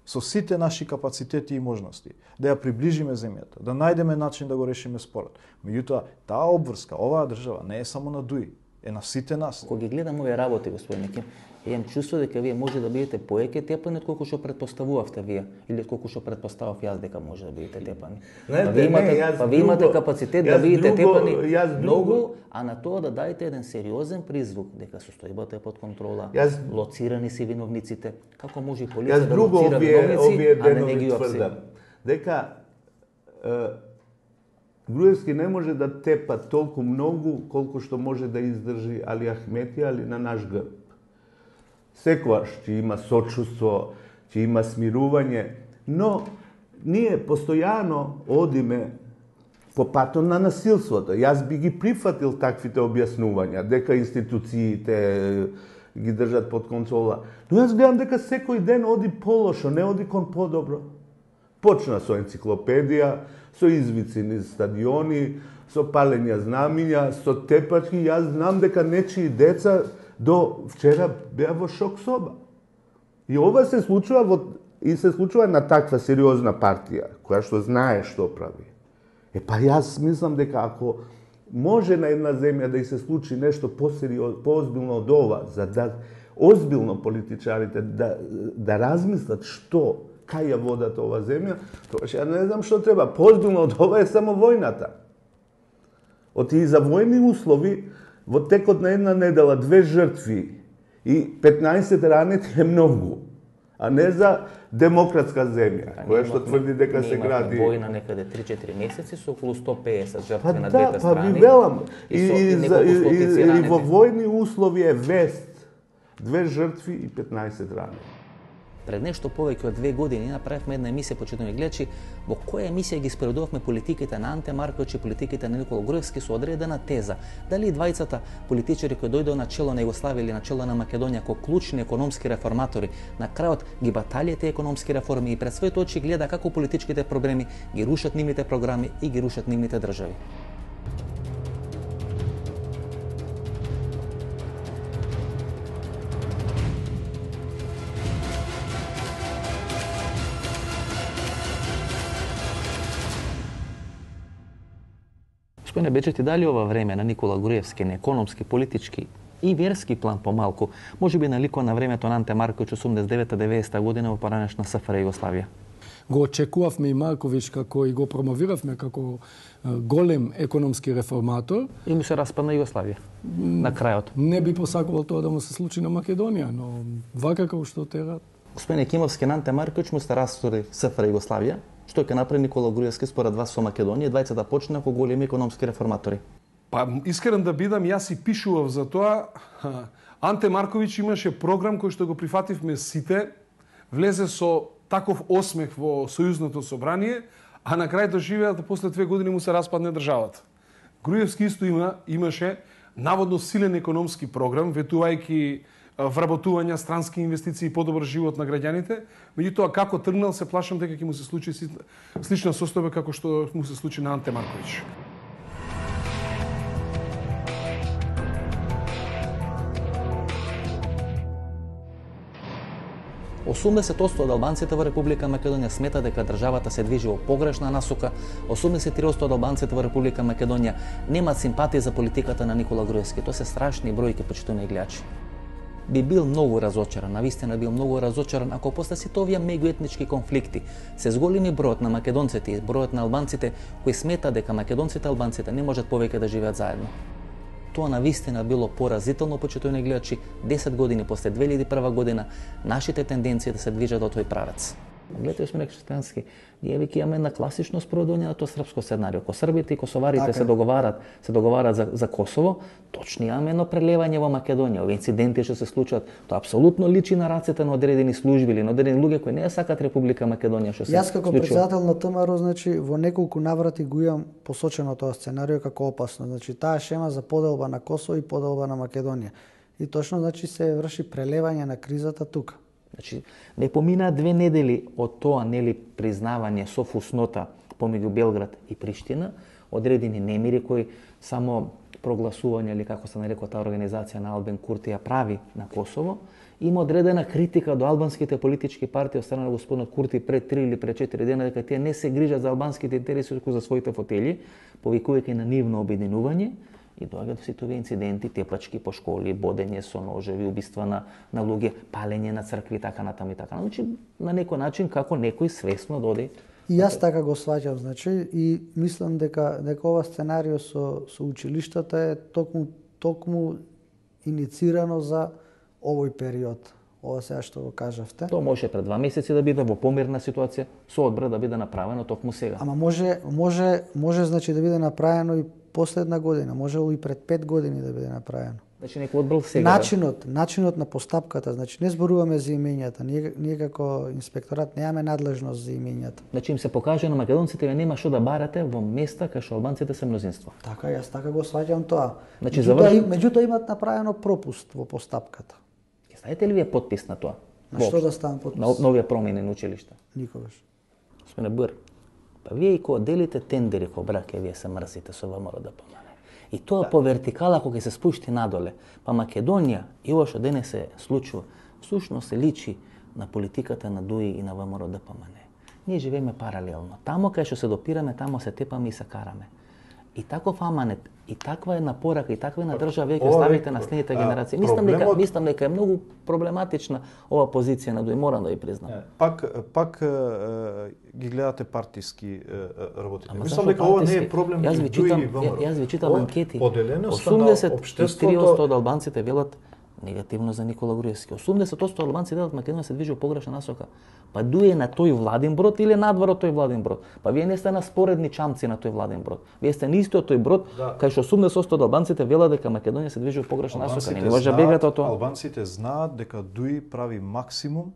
D: со сите наши капацитети и можности, да ја приближиме земјата, да најдеме начин да го решиме спорот. Меѓутоа, таа обврска, оваа држава не е само на ДУИ. е на сите нас.
A: Кога ги гледам овие работи, господине Ким, имам чувство дека вие може да бидете поеќе тепани од колку што предпоставувавте вие или од колку што предпоставав јас дека може да бидете тепани.
C: Знаете,
A: па вие имате,
C: не,
A: па вие имате
C: друго,
A: капацитет да бидете
C: друго,
A: тепани
C: друго,
A: многу, а на тоа да дајте еден сериозен призвук дека состојбата е под контрола,
C: јас,
A: лоцирани си виновниците. Како може и полиција да
C: друго
A: лоцира
C: овие,
A: виновници,
C: овие
A: а не
C: денови
A: не ги
C: тврдам, дека е, Груевски не може да тепа толку многу колку што може да издржи Али Ахмети, али на наш грб. Секогаш ќе има сочувство, ќе има смирување, но ние постојано одиме по патот на насилството. Јас би ги прифатил таквите објаснувања, дека институциите ги држат под контрола. Но јас гледам дека секој ден оди полошо, не оди кон подобро. Почна со енциклопедија, со извици низ стадиони, со палење знамиња, со тепачки. Јас знам дека нечии деца до вчера беа во шок соба. И ова се случува во, и се случува на таква сериозна партија, која што знае што прави. Е па јас мислам дека ако може на една земја да и се случи нешто посериозно, поозбилно од ова, за да озбилно политичарите да, да размислат што, кај ја водат ова земја, тоа ја не знам што треба. Поозбилно од ова е само војната. Оти и за војни услови, во текот на една недела, две жртви и петнаесет ранети е многу, а не за демократска земја, која што тврди дека се гради.
A: Ние имавме војна некаде три-четири месеци со околу сто пеесет жртви
C: па
A: на
C: да,
A: двете
C: па
A: страни.
C: ви велам, и,
A: и,
C: и,
A: и,
C: за, и, и, и во
A: ранети.
C: војни услови е вест. Две жртви и петнаесет ранети.
A: Пред нешто повеќе од две години направивме една емисија, почитувани гледачи, во која емисија ги споредувавме политиките на Анте Марковиќ и политиките на Никола Груевски со одредена теза. Дали двајцата политичари кои дојдоа на чело на Југославија или на чело на Македонија како клучни економски реформатори, на крајот ги баталија тие економски реформи и пред своите очи гледа како политичките проблеми ги рушат нивните програми и ги рушат нивните држави. Господине Бечети, дали ова време на Никола Груевски, на економски, политички и верски план помалку, може би налико на времето на Анте Марковиќ осумдесет и девета деветдесета година во поранешна СФР Југославија?
I: Го очекувавме и Марковиќ како и го промовиравме како голем економски реформатор.
A: И му се распадна Југославија на крајот.
I: Не би посакувал тоа да му се случи на Македонија, но вака како што тера.
A: Господине Кимовски, на Анте Марковиќ му се растори СФР Југославија. Што ќе направи Никола Груевски според вас со Македонија, двајцата почна како големи економски реформатори?
J: Па, искрен да бидам, јас и пишував за тоа. Анте Марковиќ имаше програм кој што го прифативме сите, влезе со таков осмех во Сојузното собрание, а на крај доживеа да после две години му се распадне државата. Груевски исто има, имаше наводно силен економски програм, ветувајќи вработувања, странски инвестиции и подобар живот на граѓаните. Меѓутоа, како тргнал, се плашам дека ќе му се случи слична состојба како што му се случи на Анте Марковиќ.
A: осумдесет одсто од албанците во Република Македонија смета дека државата се движи во погрешна насока, осумдесет и три одсто од албанците во Република Македонија немаат симпатија за политиката на Никола Груевски. Тоа се страшни бројки, почитувани гледачи. Би бил многу разочаран, навистина бил многу разочаран ако после сите овие меѓуетнички конфликти се зголеми бројот на македонците и бројот на албанците кои смета дека македонците и албанците не можат повеќе да живеат заедно. Тоа навистина било поразително, почитувани гледачи, десет години после две илјади и прва година нашите тенденции да се движат во тој правец. Гледате, сме Шестански, ние веќе имаме на класично спроведување на тоа српско сценарио. Ко србите и косоварите така се договарат, се договарат за, за Косово, точно имаме едно прелевање во Македонија. Овие инциденти што се случуваат, тоа апсолутно личи на рацете на одредени служби или на одредени луѓе кои не ја сакат Република Македонија што се
G: Јас како претседател на ТМРО, значи во неколку наврати го имам посочено тоа сценарио како опасно. Значи таа шема за поделба на Косово и поделба на Македонија. И точно значи се врши прелевање на кризата тука.
A: Значи, не поминаа две недели од тоа, нели, признавање со фуснота помеѓу Белград и Приштина, одредени немири кои само прогласување или како се нарекува таа организација на Албен Курти ја прави на Косово, има одредена критика до албанските политички партии од страна на господинот Курти пред три или пред четири дена дека тие не се грижат за албанските интереси, туку за своите фотели, повикувајќи на нивно обединување и доаѓаат до сите овие инциденти, тепачки по школи, бодење со ножеви, убиства на, на луѓе, палење на цркви и така натаму и така. Значи, на некој начин како некој свесно доди.
G: И јас така го сваќам, значи, и мислам дека дека ова сценарио со со училиштата е токму токму иницирано за овој период. Ова сега што го кажавте.
A: Тоа може пред два месеци да биде во помирна ситуација, со одбра да биде направено токму сега.
G: Ама може може може значи да биде направено и последна година, можело и пред пет години да биде направено.
A: Значи некој одбрал сега.
G: Начинот, начинот на постапката, значи не зборуваме за имењата. Ние, ние како инспекторат немаме надлежност за имењата.
A: Значи им се покаже на македонците ве нема што да барате во места кај што албанците се мнозинство.
G: Така, јас така го сваќам тоа.
A: Значи
G: меѓутоа,
A: заврши...
G: меѓутоа имат направено пропуст во постапката.
A: Ставите ли вие подпис на тоа?
G: На што да ставам подпис?
A: На новија промени на училишта.
G: Никогаш.
A: Господине Буер, па вие и кога делите тендери во браке, вие се мрзите со ВМРО-ДПМН. И тоа да. По вертикала кога се спушти надоле, па Македонија и ова што денес се случува, всушност се личи на политиката на ДУИ и на ВМРО-ДПМН. Ние живееме паралелно. Тамо кај што се допираме, тамо се тепаме и се караме. И таков аманет, и таква една порака, и таква една држава веќе ќе ставите на следните генерации. Мислам дека
D: проблемот...
A: мислам дека е многу проблематична ова позиција на ДУИ, морам да ви признам.
D: Пак пак ги гледате партиски работите. Мислам дека ова не е проблем
A: меѓу ДУИ и ВМРО. Јас ви читам анкети. осумдесет и три одсто од албанците велат негативно за Никола Груевски. осумдесет одсто албанци велат Македонија се движи во погрешна насока. Па дуе на тој владин брод или надвор од тој владин брод? Па вие не сте на споредни чамци на тој владин брод. Вие сте на истиот тој брод, да. Кај што осумдесет одсто од албанците велат дека Македонија се движи во погрешна насока. Не може да бегате од тоа.
D: Албанците знаат дека ДУИ прави максимум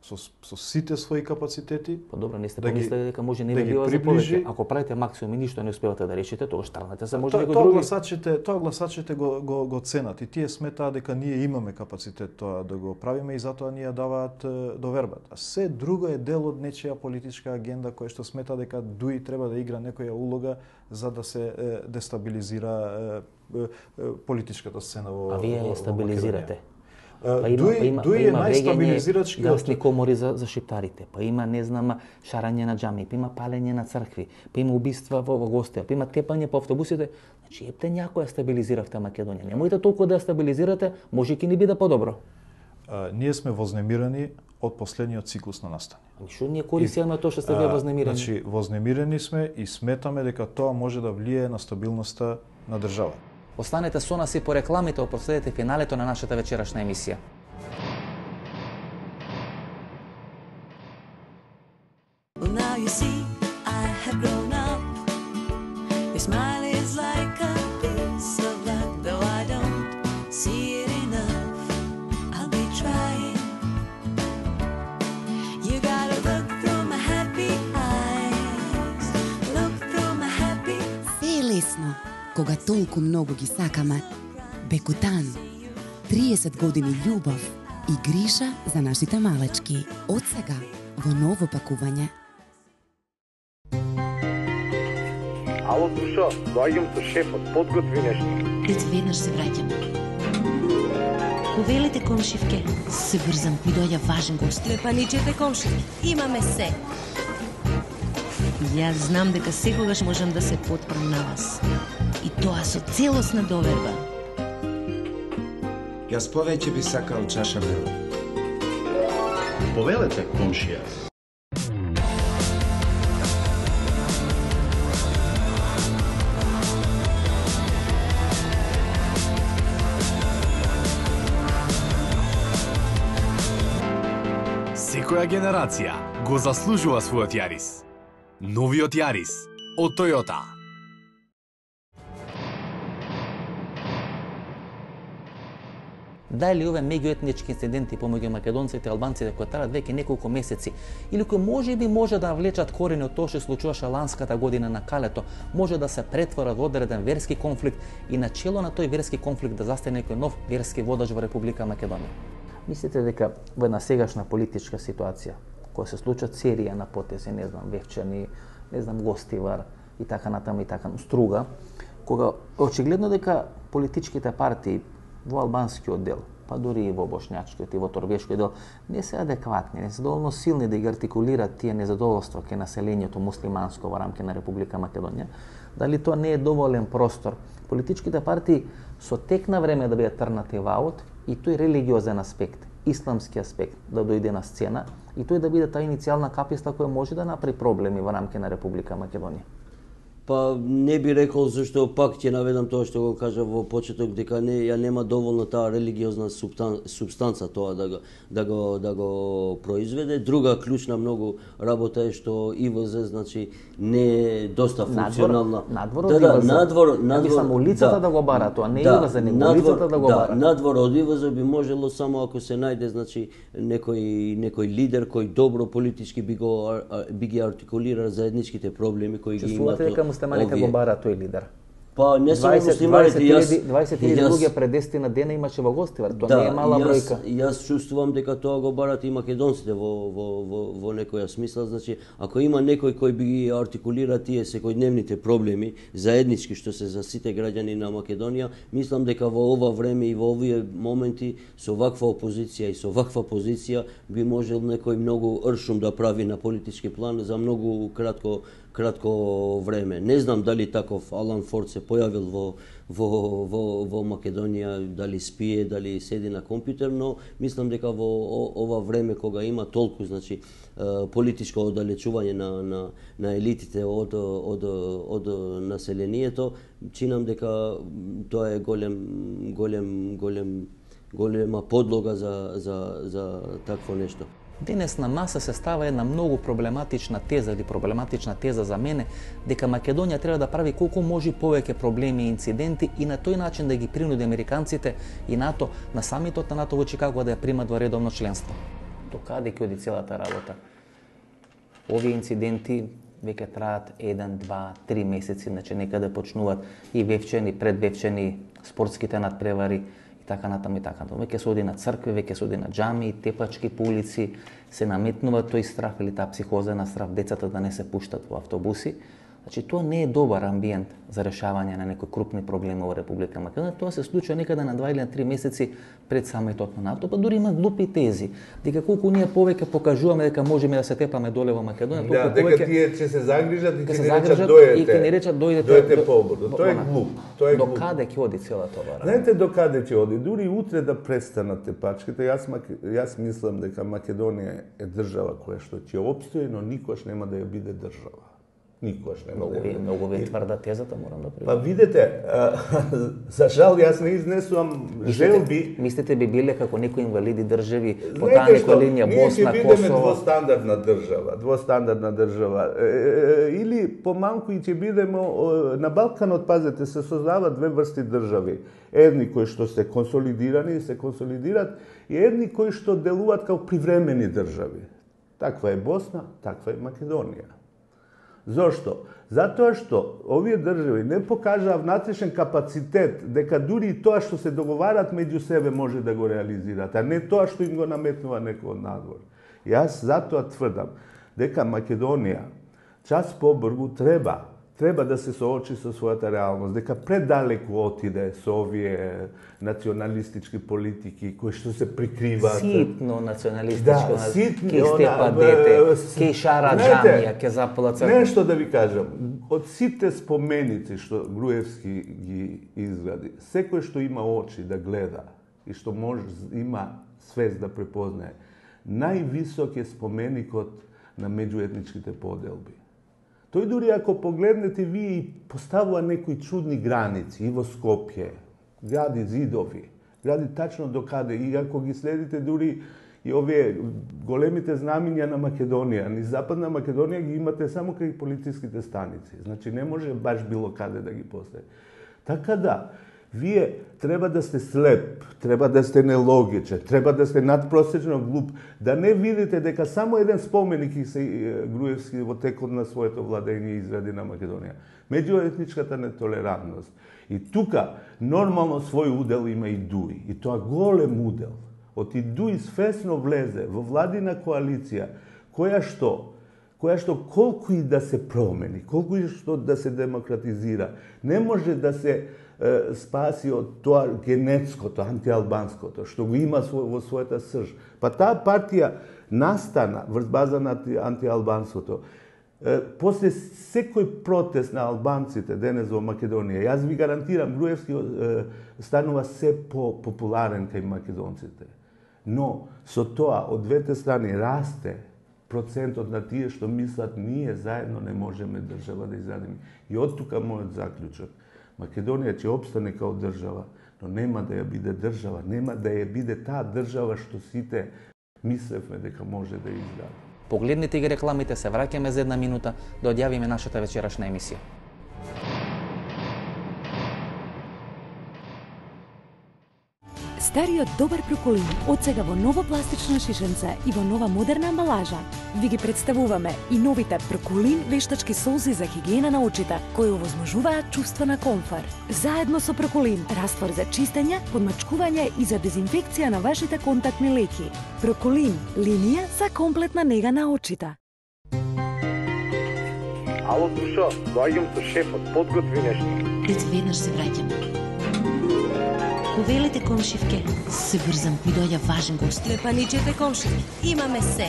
D: со со сите своји капацитети.
A: Па добро, не сте да помислили дека може не да ви бива за повеќе. Ако правите максимум и ништо не успевате да решите, тогаш тргнете се може некој други.
D: Тоа гласачите, тоа гласачите го го го ценат и тие сметаат дека ние имаме капацитет тоа да го правиме и затоа ние даваат довербата. А се друго е дел од нечија политичка агенда која што смета дека ДУИ треба да игра некоја улога за да се дестабилизира политичката сцена во.
A: А вие ја стабилизирате.
D: Па има, дуи, па има, дуи па има најстабилизирачки
A: гасни комори за, за шиптарите, па има, не знам, шарање на џами, па има палење на цркви, па има убиства во, во гостија, па има тепање по автобусите. Значи, епте някоја стабилизиравте Македонија. Немојте толку да ја стабилизирате, може ќе ни биде подобро.
D: А, ние сме вознемирани од последниот циклус на настани.
A: Ами што ние користиме тоа што сте вие вознемирани?
D: Значи, вознемирани сме и сметаме дека тоа може да влие на стабилноста на држава.
A: Останете со нас и по рекламите, а проследете финалето на нашата вечерашна емисија. Well, now you see, I have grown up. Your smile is like a piece of luck, though I don't see it enough. I'll be trying. You gotta look through my happy eyes. Look through my happy eyes.
K: Се е лесно кога толку многу ги сакаме. Бекутан. триесет години љубов и грижа за нашите малечки. Од сега во ново пакување.
L: Ало, Душа, доаѓам со шефот, подготви нешто.
M: Дете, веднаш се враќам. Повелете комшивке. Се брзам, ми доаѓа важен гост.
N: Лепаничете комшивки, имаме се.
M: Јас знам дека секогаш можам да се потпрам на вас. И тоа со целосна доверба.
O: Јас повеќе би сакал чаша мела.
P: Повелете, комшија.
Q: Секоја генерација го заслужува својот Јарис. Новиот Јарис од Тојота.
A: Дали овие меѓуетнички инциденти помеѓу македонците и албанците кои траат веќе неколку месеци или кои можеби може да навлечат корени од тоа што случуваше ланската година на Калето, може да се претворат во одреден верски конфликт и на чело на тој верски конфликт да застане некој нов верски водач во Република Македонија? Мислите дека во една сегашна политичка ситуација, која се случат серија на потези, не знам, Вевчани, не знам, Гостивар и така натаму и така, Струга, кога очигледно дека политичките партии во албанскиот дел, па дури и во бошњачкиот и во торбешкиот дел, не се адекватни, не се доволно силни да ги артикулираат тие незадоволства кај населението муслиманско во рамки на Република Македонија, Дали тоа не е доволен простор? Политичките партии со тек на време да бидат трнати во аут и тој религиозен аспект, исламски аспект да дојде на сцена и тој да биде таа иницијална каписта која може да направи проблеми во рамки на Република Македонија.
P: Па не би рекол, зашто пак ќе наведам тоа што го кажа во почеток, дека не ја нема доволно таа религиозна субстан, субстанца тоа да го да го да го произведе. Друга клучна многу работа е што И В З значи не е доста функционална.
A: Надвор, надвор
P: да,
A: од
P: да,
A: И В З.
P: надвор, надвор,
A: мислам улицата да, да го бара тоа, не да, И В З, него надвор, улицата да го
P: да,
A: бара.
P: Надвор од И В З би можело само ако се најде значи некој некој лидер кој добро политички би го би ги артикулира заедничките проблеми кои ги имаат.
A: Муслиманите го бара тој лидер.
P: Па не само муслиманите, јас
A: дваесет илјади луѓе пред десетина дена имаше во гостивар, тоа да, не е мала
P: јас,
A: бројка.
P: Јас чувствувам дека тоа го барат и македонците во во во во некоја смисла, значи ако има некој кој би ги артикулира тие секојдневните проблеми заеднички што се за сите граѓани на Македонија, мислам дека во ова време и во овие моменти со ваква опозиција и со ваква позиција би можел некој многу ршум да прави на политички план за многу кратко кратко време. Не знам дали таков Алан Форд се појавил во во во во Македонија, дали спие, дали седи на компјутер, но мислам дека во ова време кога има толку значи политичко оддалечување на на на елитите од од од населението, чинам дека тоа е голем голем голем голема подлога за за за такво нешто.
A: Денес на маса се става една многу проблематична теза или проблематична теза за мене дека Македонија треба да прави колку може повеќе проблеми и инциденти и на тој начин да ги принуди американците и НАТО на самитот на НАТО во Чикаго да ја примат во редовно членство. До каде ќе оди целата работа? Овие инциденти веќе траат еден, два, три месеци, значи некаде почнуваат и вевчени, предвевчени спортските надпревари, така натаму и така натаму. Веќе се оди на цркви, веќе се оди на џами, тепачки по улици, се наметнува тој страх или таа психоза на страх децата да не се пуштат во автобуси. Значи тоа не е добар амбиент за решавање на некои крупни проблеми во Република Македонија. Тоа се случува некаде на два или на три месеци пред самитот на НАТО, па дури има глупи тези дека колку ние повеќе покажуваме дека можеме да се тепаме доле во Македонија, толку
C: да,
A: повеќе
C: дека тие ќе се загрижат и ќе
A: се
C: не речат
A: дојдете. И ќе не речат дојдете.
C: Дојдете поборно. Тоа е глуп. Тоа е
A: до
C: глуп.
A: каде ќе оди целата ова?
C: Знаете до каде ќе оди? Дури утре да престанат тепачките, јас јас мислам дека Македонија е држава која што ќе опстои, но никош нема да ја биде држава. Никош нема
A: многу,
C: да ја биде.
A: Многу ве тврда тезата, морам да признам.
C: Па видете, за жал јас не изнесувам желби.
A: Мислите би биле како некои инвалиди држави по таа некоја линија Босна,
C: Косово? Ние ќе бидеме двостандардна држава, двостандардна држава. Или помалку и ќе бидеме на Балканот, пазете, се создаваат две врсти држави. Едни кои што се консолидирани, се консолидират и едни кои што делуваат како привремени држави. Таква е Босна, таква е Македонија. Зошто? Затоа што овие држави не покажаа внатрешен капацитет дека дури и тоа што се договарат меѓу себе може да го реализираат, а не тоа што им го наметнува некој од надвор. Јас затоа тврдам дека Македонија час побргу треба треба да се соочи со својата реалност, дека предалеку отиде со овие националистички политики кои што се прикриваат.
A: Ситно националистичко,
C: да, ситно,
A: ке степа дете, ке шара џамија, ке запала црква.
C: Нешто да ви кажам, од сите споменици што Груевски ги изгради, секој што има очи да гледа и што може има свест да препознае, највисок е споменикот на меѓуетничките поделби. Тој дури ако погледнете вие и поставува некои чудни граници и во Скопје, гради зидови, гради тачно до каде и ако ги следите дури и овие големите знамиња на Македонија, ни Западна Македонија ги имате само кај полициските станици. Значи не може баш било каде да ги постави. Така да, вие треба да сте слеп, треба да сте нелогичен, треба да сте надпросечно глуп, да не видите дека само еден споменик и се Груевски во текот на своето владење изради на Македонија. Меѓуетничката нетолерантност. И тука нормално свој удел има и Дуи. И тоа голем удел. Од и Дуи свесно влезе во владина коалиција, која што која што колку и да се промени, колку и што да се демократизира, не може да се спаси од тоа генетското, антиалбанското, што го има во својата срж. Па таа партија настана врз база на антиалбанското. после секој протест на албанците денес во Македонија, јас ви гарантирам, Груевски станува се по-популарен кај македонците. Но со тоа од двете страни расте процентот на тие што мислат ние заедно не можеме држава да изградиме. И од тука мојот заклучок. Македонија ќе опстане као држава, но нема да ја биде држава, нема да ја биде таа држава што сите мислевме дека може да ја изгради.
A: Погледнете ги рекламите, се враќаме за една минута да одјавиме нашата вечерашна емисија.
R: Стариот добар проколин од сега во ново пластично шишенце и во нова модерна амбалажа. Ви ги представуваме и новите проколин вештачки солзи за хигиена на очите, кои овозможуваат чувство на комфор. Заедно со проколин, раствор за чистење, подмачкување и за дезинфекција на вашите контактни леки. Проколин, линија за комплетна нега на очите.
L: Ало, Тушо, доаѓам со шефот, подготви нешто.
M: Дете, веднаш се враќам. Повелете, комшивке, се брзам, ми доаѓа важен гост.
N: Не паничете, комшивке, имаме се.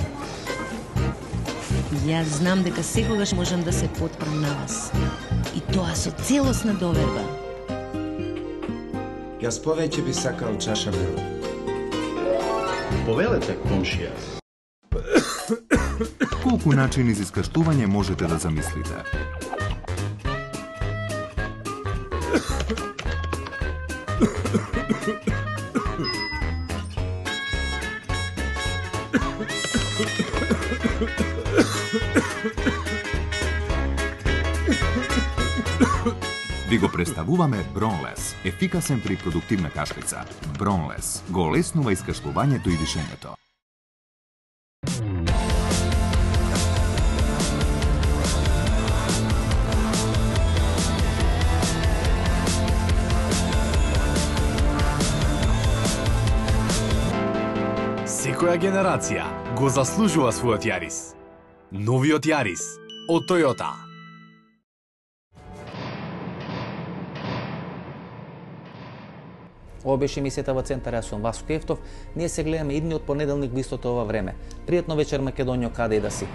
M: Јас знам дека секогаш можам да се потпрам на вас. И тоа со целосна доверба.
O: Јас повеќе би сакал чаша мела.
S: Повелете, комшија.
T: Колку начини за искаштување можете да замислите? Ви го представуваме Бронлес, ефикасен при продуктивна кашлица. Бронлес го олеснува искашлувањето и дишењето.
Q: Секоја генерација го заслужува својот Јарис. Новиот Јарис од Тојота.
A: Ова беше емисијата во Центар, јас сум Васко Ефтов. Ние се гледаме идниот понеделник во истото ова време. Пријатно вечер, Македонија, каде и да си.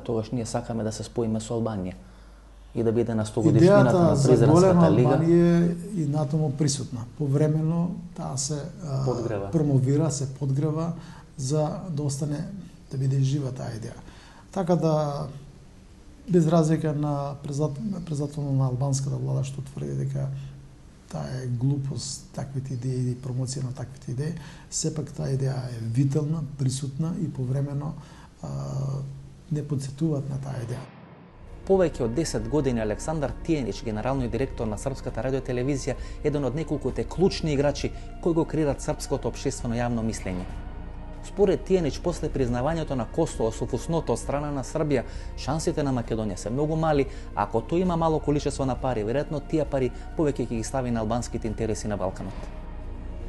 A: Тогаш ние сакаме да се споиме со Албанија и да биде на сто годишнината на Презренската лига.
B: Идејата за голема Албанија е и натаму присутна. Повремено таа се подгрева. промовира, се подгрева за да остане, да биде жива таа идеја. Така да, без разлика на председателот на албанската влада што тврди дека таа е глупост, таквите идеи и промоција на таквите идеи, сепак таа идеја е вителна, присутна и повремено не подсетуваат на таа идеја.
A: Повеќе од десет години Александар Тијенич, генералниот директор на Српската радиотелевизија, еден од неколкуте клучни играчи кои го креират српското општествено јавно мислење. Според Тијенич, после признавањето на Косово со фусното од страна на Србија, шансите на Македонија се многу мали, а ако тој има мало количество на пари, веројатно тие пари повеќе ќе ги стави на албанските интереси на Балканот.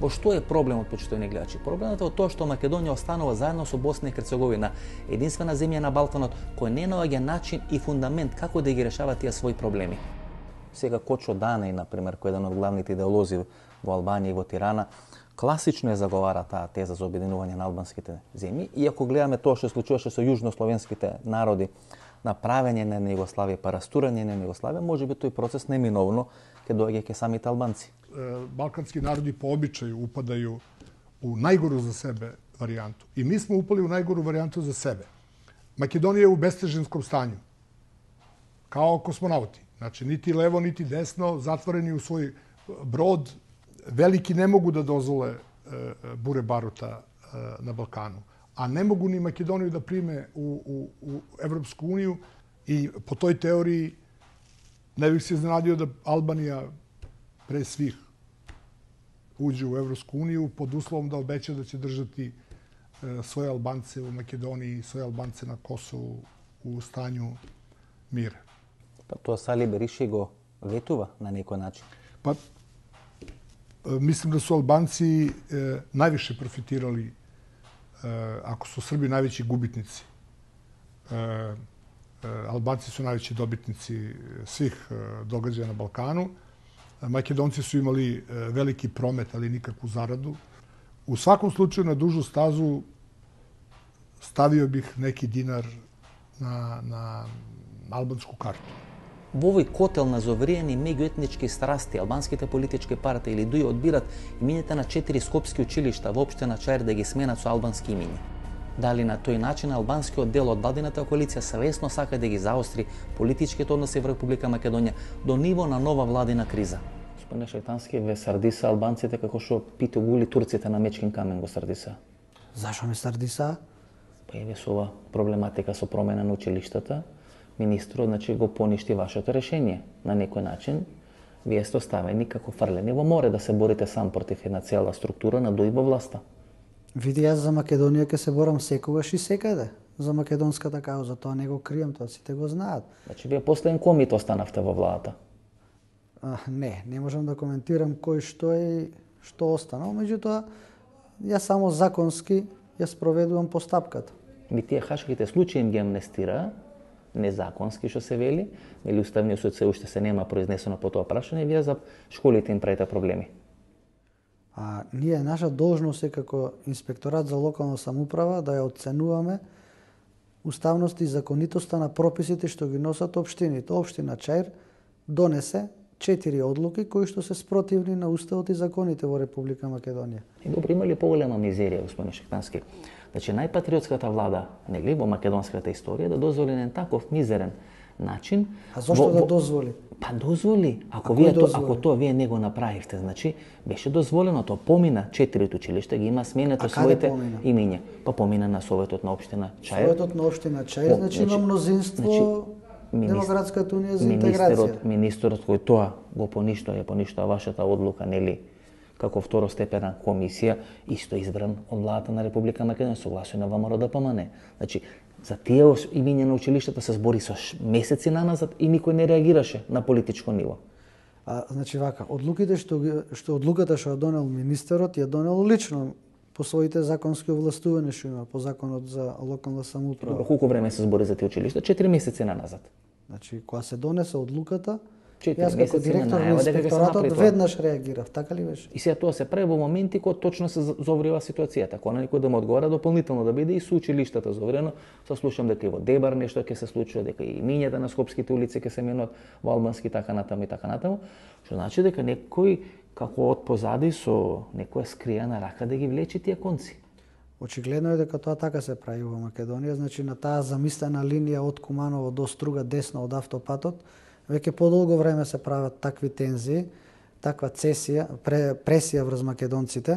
A: Во што е проблемот, почитувани гледачи? Проблемот е во тоа што Македонија останува заедно со Босна и Херцеговина, единствена земја на Балканот која не наоѓа начин и фундамент како да ги решава тие своји проблеми. Сега Кочо Данеј, например, кој е еден од главните идеолози во Албанија и во Тирана, класично е заговара таа теза за обединување на албанските земји, и ако гледаме тоа што случуваше со јужнословенските народи, направење на Југославија, па растурање на Југославија, можеби тој процес неминовно ќе доаѓа ке самите албанци.
F: Балкански народи по обичају упадају у најгору за себе варијанту. И ми сме упали у најгору варијанту за себе. Македонија е у бестежинском станju. Као космонаути. Значи, нити лево, нити десно, затворени у свој брод, велики не могу да дозволе буре барута на Балкану. А не могу ни Македонија да приме у, у, у Европску унију и по тој теории не бих се изненадио да Албанија pre svih uđe u Evropsku uniju pod uslovom da obeća da će držati svoje Albance u Makedoniji i svoje Albance na Kosovu u stanju mira.
A: Pa to Sali Berisha го ветува на некој начин?
F: Па, мислим да су Албанци е, највише профитирали, е, ако су Срби највеći губитници. Е, е, Албанци су највеći добитници свих е, догаđаja на Балкану. Македонци су имали е, велики промет, али никакvu зараду. У сваком случaju на дужу стазу ставио бих неки динар на, на албанску карту.
A: Во овој котел на зовриени меѓуетнички страсти, албанските политички партии или дуи одбират имињата на четири скопски училишта во општина Чаир да ги сменат со албански имиња. Дали на тој начин албанскиот дел од владината коалиција savesno сака да ги заостри политичките односи во Република Македонија до ниво на нова владина криза? Господине Шајтански, ве сардиса албанците како што питу гули турците на Мечкин камен го сардиса?
G: Зашо ме сардиса?
A: Па еве со ова проблематика со промена на училиштата, министрот значи го поништи вашето решение. На некој начин вие сте оставени како фрлени во море да се борите сам против една цела структура на дуи во власта.
G: Види, јас за Македонија ќе се борам секогаш и секаде. За македонската кауза, тоа не го крием, тоа сите го знаат.
A: Значи вие последен комит останавте во владата.
G: А, не, не можам да коментирам кој што е што останал, меѓутоа јас само законски ја спроведувам постапката.
A: Ми тие хашките случаи им ги амнестира, незаконски што се вели, или Уставниот суд се уште се нема произнесено по тоа прашање, вие за школите им правите проблеми.
G: А ние наша должност е како инспекторат за локална самоуправа да ја оценуваме уставност и законитоста на прописите што ги носат општините. Општина Чаир донесе четири одлуки кои што се спротивни на уставот и законите во Република Македонија.
A: И добро, има ли поголема мизерија, господин Шајтански? Значи, најпатриотската влада, нели, во македонската историја да дозволи на таков мизерен начин.
G: А зошто
A: во,
G: да
A: во...
G: дозволи?
A: Па дозволи. Ако
G: а
A: вие то,
G: дозволи?
A: ако тоа вие не го направивте, значи беше дозволено, тоа помина четирите училишта, ги има сменето своите имиња. Па помина на Советот на општина Чаир.
G: Советот на општина Чаир, значи има мнозинство, значи, Демократската унија за интеграција.
A: Министерот кој тоа го поништува, ја поништува вашата одлука, нели, како второстепена комисија, исто избран од владата на Република Македонија, согласие на ВМРО да помане. Значи, за тие имиња на училиштата се збори со месеци наназад и никој не реагираше на политичко ниво.
G: А, значи вака, одлуките што, што одлуката што ја донел министерот, ја донел лично по своите законски овластувања што има по законот за локална самоуправа.
A: Добро, колку време се збори за тие училишта? четири месеци наназад.
G: Значи, кога се донесе одлуката,
A: Јас
G: како директор на инспекторатот веднаш реагирав, така ли беше?
A: И сега тоа се прави во моменти кога точно се зоврива ситуацијата, кога на некој да му одговара дополнително да биде и со училиштата зоврено. Се слушам дека и во Дебар нешто ќе се случува, дека и имињата на скопските улици ќе се менуваат во албански така натаму и така натаму, што значи дека некој како од позади со некоја скриена рака да ги влечи тие конци.
G: Очигледно е дека тоа така се прави во Македонија, значи на таа замислена линија од Куманово до Струга десно од автопатот, веќе подолго време се прават такви тензии, таква цесија, пресија врз македонците,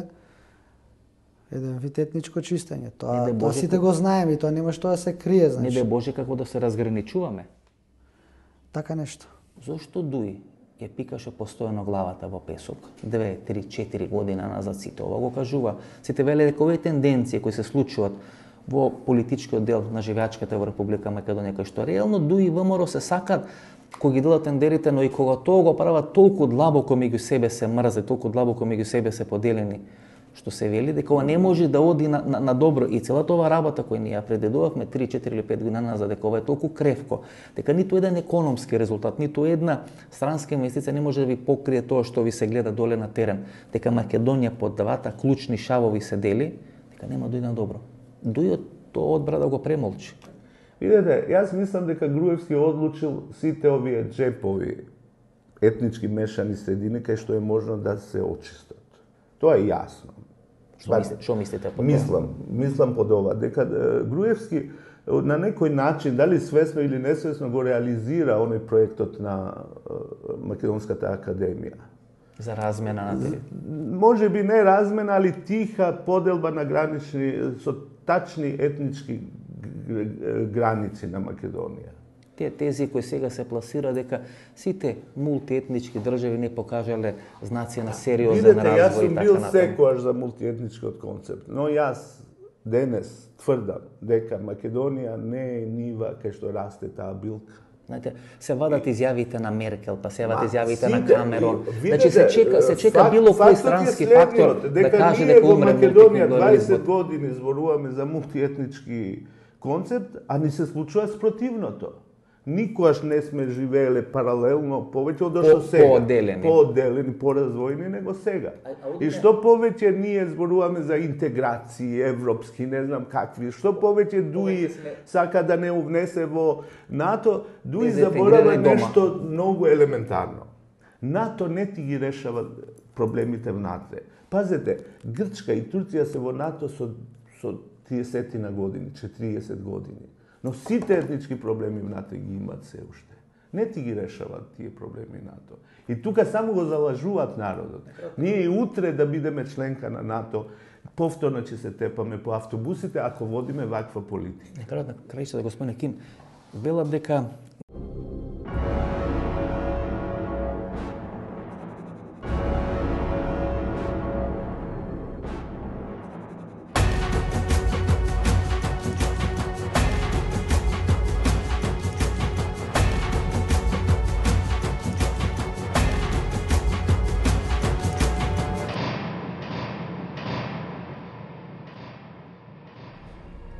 G: еден вид етничко чистење. Тоа, тоа сите го знаеме и тоа нема што да се крие, значи.
A: Не де Боже како да се разграничуваме.
G: Така нешто.
A: Зошто Дуи ја пикаше постојано главата во песок? Две, три, четири година назад сите ова го кажува. Сите веле дека овие тенденции кои се случуваат во политичкиот дел на живеачката во Република Македонија, кај што реално Дуи и ВМРО се сакат кога ги дадат тендерите, но и кога тоа го прават толку длабоко меѓу себе се мрзе, толку длабоко меѓу себе се поделени, што се вели дека ова не може да оди на, на, на добро. И целата ова работа која ние ја предедувавме три, четири или пет година назад, дека ова е толку кревко, дека ниту еден економски резултат, ниту една странска инвестиција не може да ви покрие тоа што ви се гледа доле на терен, дека Македонија под двата клучни шавови се дели, дека нема да иде на добро. Дујот тоа одбра да го премолчи.
C: Видете, јас мислам дека Груевски одлучил сите овие джепови етнички мешани средини кај што е можно да се очистат. Тоа е јасно.
A: Што мислите, што мислите по тоа?
C: Мислам, мислам под ова дека Груевски на некој начин, дали свесно или несвесно, го реализира оној проектот на Македонската академија.
A: За размена на територија.
C: Може би не размена, али тиха поделба на гранични, со тачни етнички граници на Македонија.
A: Тие тези кои сега се пласира дека сите мултиетнички држави не покажале знаци на сериозен
C: развој.
A: Видете,
C: јас сум бил секојаш за мултиетничкиот концепт, но јас денес тврдам дека Македонија не е нива кај што расте таа билка.
A: Знаете, се вадат изјавите на Меркел, па се вадат изјавите на
C: сите,
A: Камерон.
C: видите,
A: Значи се чека, се чека
C: факт,
A: било кој
C: фактот е
A: странски
C: следниот,
A: фактор да каже
C: ние
A: дека
C: во
A: умре
C: Македонија
A: мултикултурализмот.
C: дваесет години зборуваме за мултиетнички концепт, а ни се случува спротивното. Никогаш не сме живееле паралелно повеќе од што сега.
A: Поодделени.
C: Поодделени, поразвојни него сега. И што повеќе ние зборуваме за интеграции, европски, не знам какви, што повеќе Дуи сака да не увнесе во НАТО, Дуи заборава нешто многу елементарно. НАТО не ти ги решава проблемите внатре. Пазете, Грчка и Турција се во НАТО со, со триесет на години, четириесет години. Но сите етнички проблеми внатре ги имат се уште. Не ти ги решават тие проблеми НАТО. И тука само го залажуваат народот. Ние и утре да бидеме членка на НАТО, повторно ќе се тепаме по автобусите ако водиме ваква политика.
A: На крајот на крајшата, господине Ким, велат дека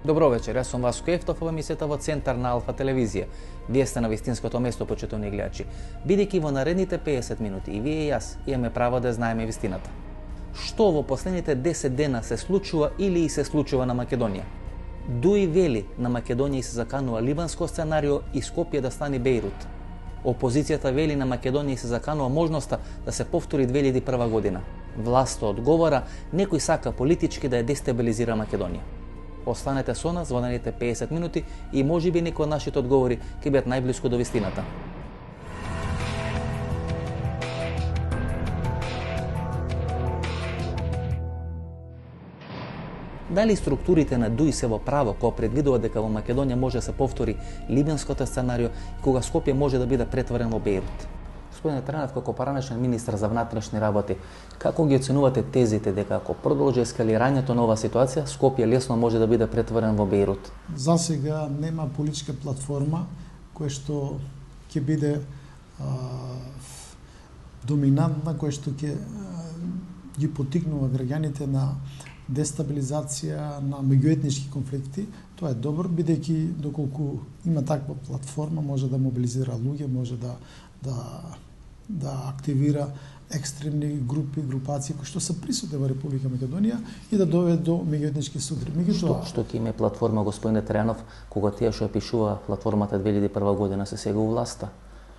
A: Добро вечер, јас сум Васко Ефтов, ова емисијата во центар на Алфа телевизија. Вие сте на вистинското место, почитувани гледачи. Бидејќи во наредните песет минути и вие и јас имаме право да знаеме вистината. Што во последните десет дена се случува или и се случува на Македонија? Дуи вели на Македонија и се заканува либанско сценарио и Скопје да стане Бејрут. Опозицијата вели на Македонија и се заканува можноста да се повтори две илјади и прва година. Власта одговора, некој сака политички да ја дестабилизира Македонија. Останете со нас во наредните песет минути и можеби некои од нашите одговори ќе бидат најблиску до вистината. Дали структурите на Дуи се во право кога предвидува дека во Македонија може да се повтори либенското сценарио и кога Скопје може да биде претворен во Бејрут? Господине Тренов, како поранешен министар за внатрешни работи, како ги оценувате тезите дека ако продолжи ескалирањето на оваа ситуација, Скопје лесно може да биде претворен во Бејрут?
B: За сега нема политичка платформа која што ќе биде а, доминантна, која што ќе ги потикнува граѓаните на дестабилизација, на меѓуетнички конфликти. Тоа е добро, бидејќи доколку има таква платформа, може да мобилизира луѓе, може да да да активира екстремни групи, групации кои што се присутни во Република Македонија и да доведе до меѓуетнички судри.
A: Што, што ќе има платформа, господине Тренов, кога тие што ја пишува платформата две илјади и прва година се сега у власта?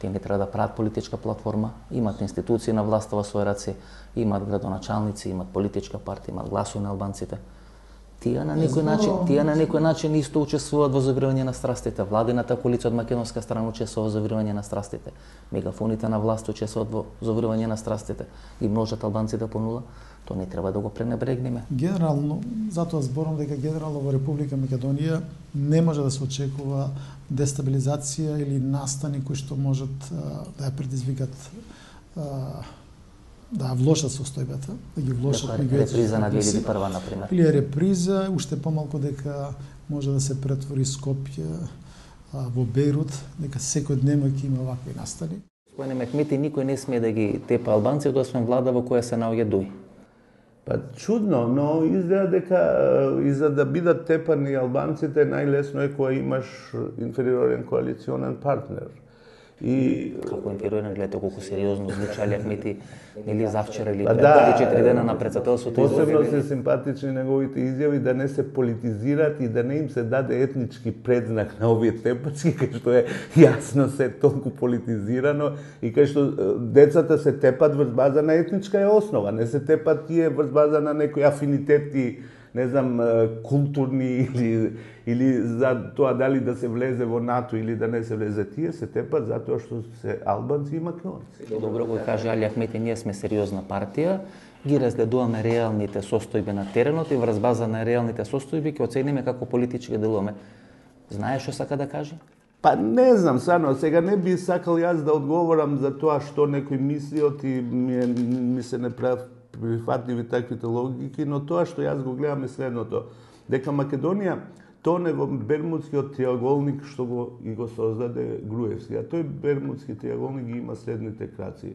A: Тие не треба да прават политичка платформа, имат институции на власта во своји раце, имат градоначалници, имат политичка партија, имат гласови на албанците. Тие на некој начин, тие на некој начин исто учествуваат во завирување на страстите. Владината коалиција од македонска страна учествува во завирување на страстите. Мегафоните на власт учествуваат во завирување на страстите. Ги множат албанците по нула. Тоа не треба да го пренебрегнеме.
B: Генерално, затоа зборам дека генерално во Република Македонија не може да се очекува дестабилизација или настани кои што можат да ја предизвикат да влошат состојбата, да ги влошат
A: меѓуетнички. Реприза на две илјади и прва, например.
B: Или реприза, уште помалку дека може да се претвори Скопје во Бејрут, дека секој дневно ќе има вакви настани.
A: Господине Мехмети, никој не смее да ги тепа албанците, освен влада во која се наоѓа Дуи.
C: Па чудно, но изгледа дека и за да бидат тепани албанците најлесно е кога имаш инфериорен коалиционен партнер. И
A: како инфериорен, гледате колку сериозно звучи Али Ахмети, нели завчера или пред четири дена на председателството.
C: Посебно се симпатични неговите изјави да не се политизират и да не им се даде етнички предзнак на овие тепачки, кај што е јасно се толку политизирано и кај што децата се тепат врз база на етничка е основа, не се тепат тие врз база на некои афинитети, не знам, културни или или за тоа дали да се влезе во НАТО или да не се влезе, тие се тепат затоа што се албанци и македонци.
A: Добро го каже Али Ахмети, ние сме сериозна партија, ги разгледуваме реалните состојби на теренот и врз база на реалните состојби ќе оцениме како политички делуваме. Знаеш што сака да каже?
C: Па не знам, сано, сега не би сакал јас да одговорам за тоа што некој мислиот и ми, ми се не прифатливи таквите логики, но тоа што јас го гледам е следното, дека Македонија тоне во Бермудскиот триаголник што го и го создаде Груевски. А тој Бермудски триаголник ги има следните краци: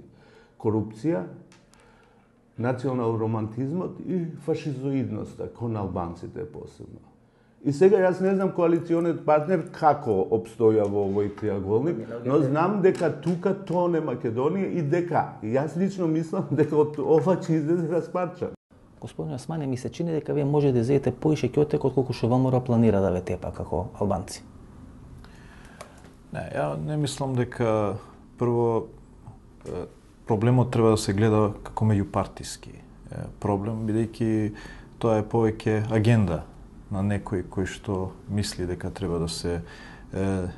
C: корупција, национал романтизмот и фашизоидноста кон албанците посебно. И сега јас не знам коалициониот партнер како обстоја во овој триаголник, но знам дека тука тоне Македонија и дека, и јас лично мислам дека од ова ќе излезе распарчан.
A: Господин Османе, ми се чини дека вие може да изедете поише ќотек отколку што ВМРО планира да ве тепа како албанци.
D: Не, ја не мислам дека прво проблемот треба да се гледа како меѓупартиски проблем, бидејќи тоа е повеќе агенда на некој кој што мисли дека треба да се е,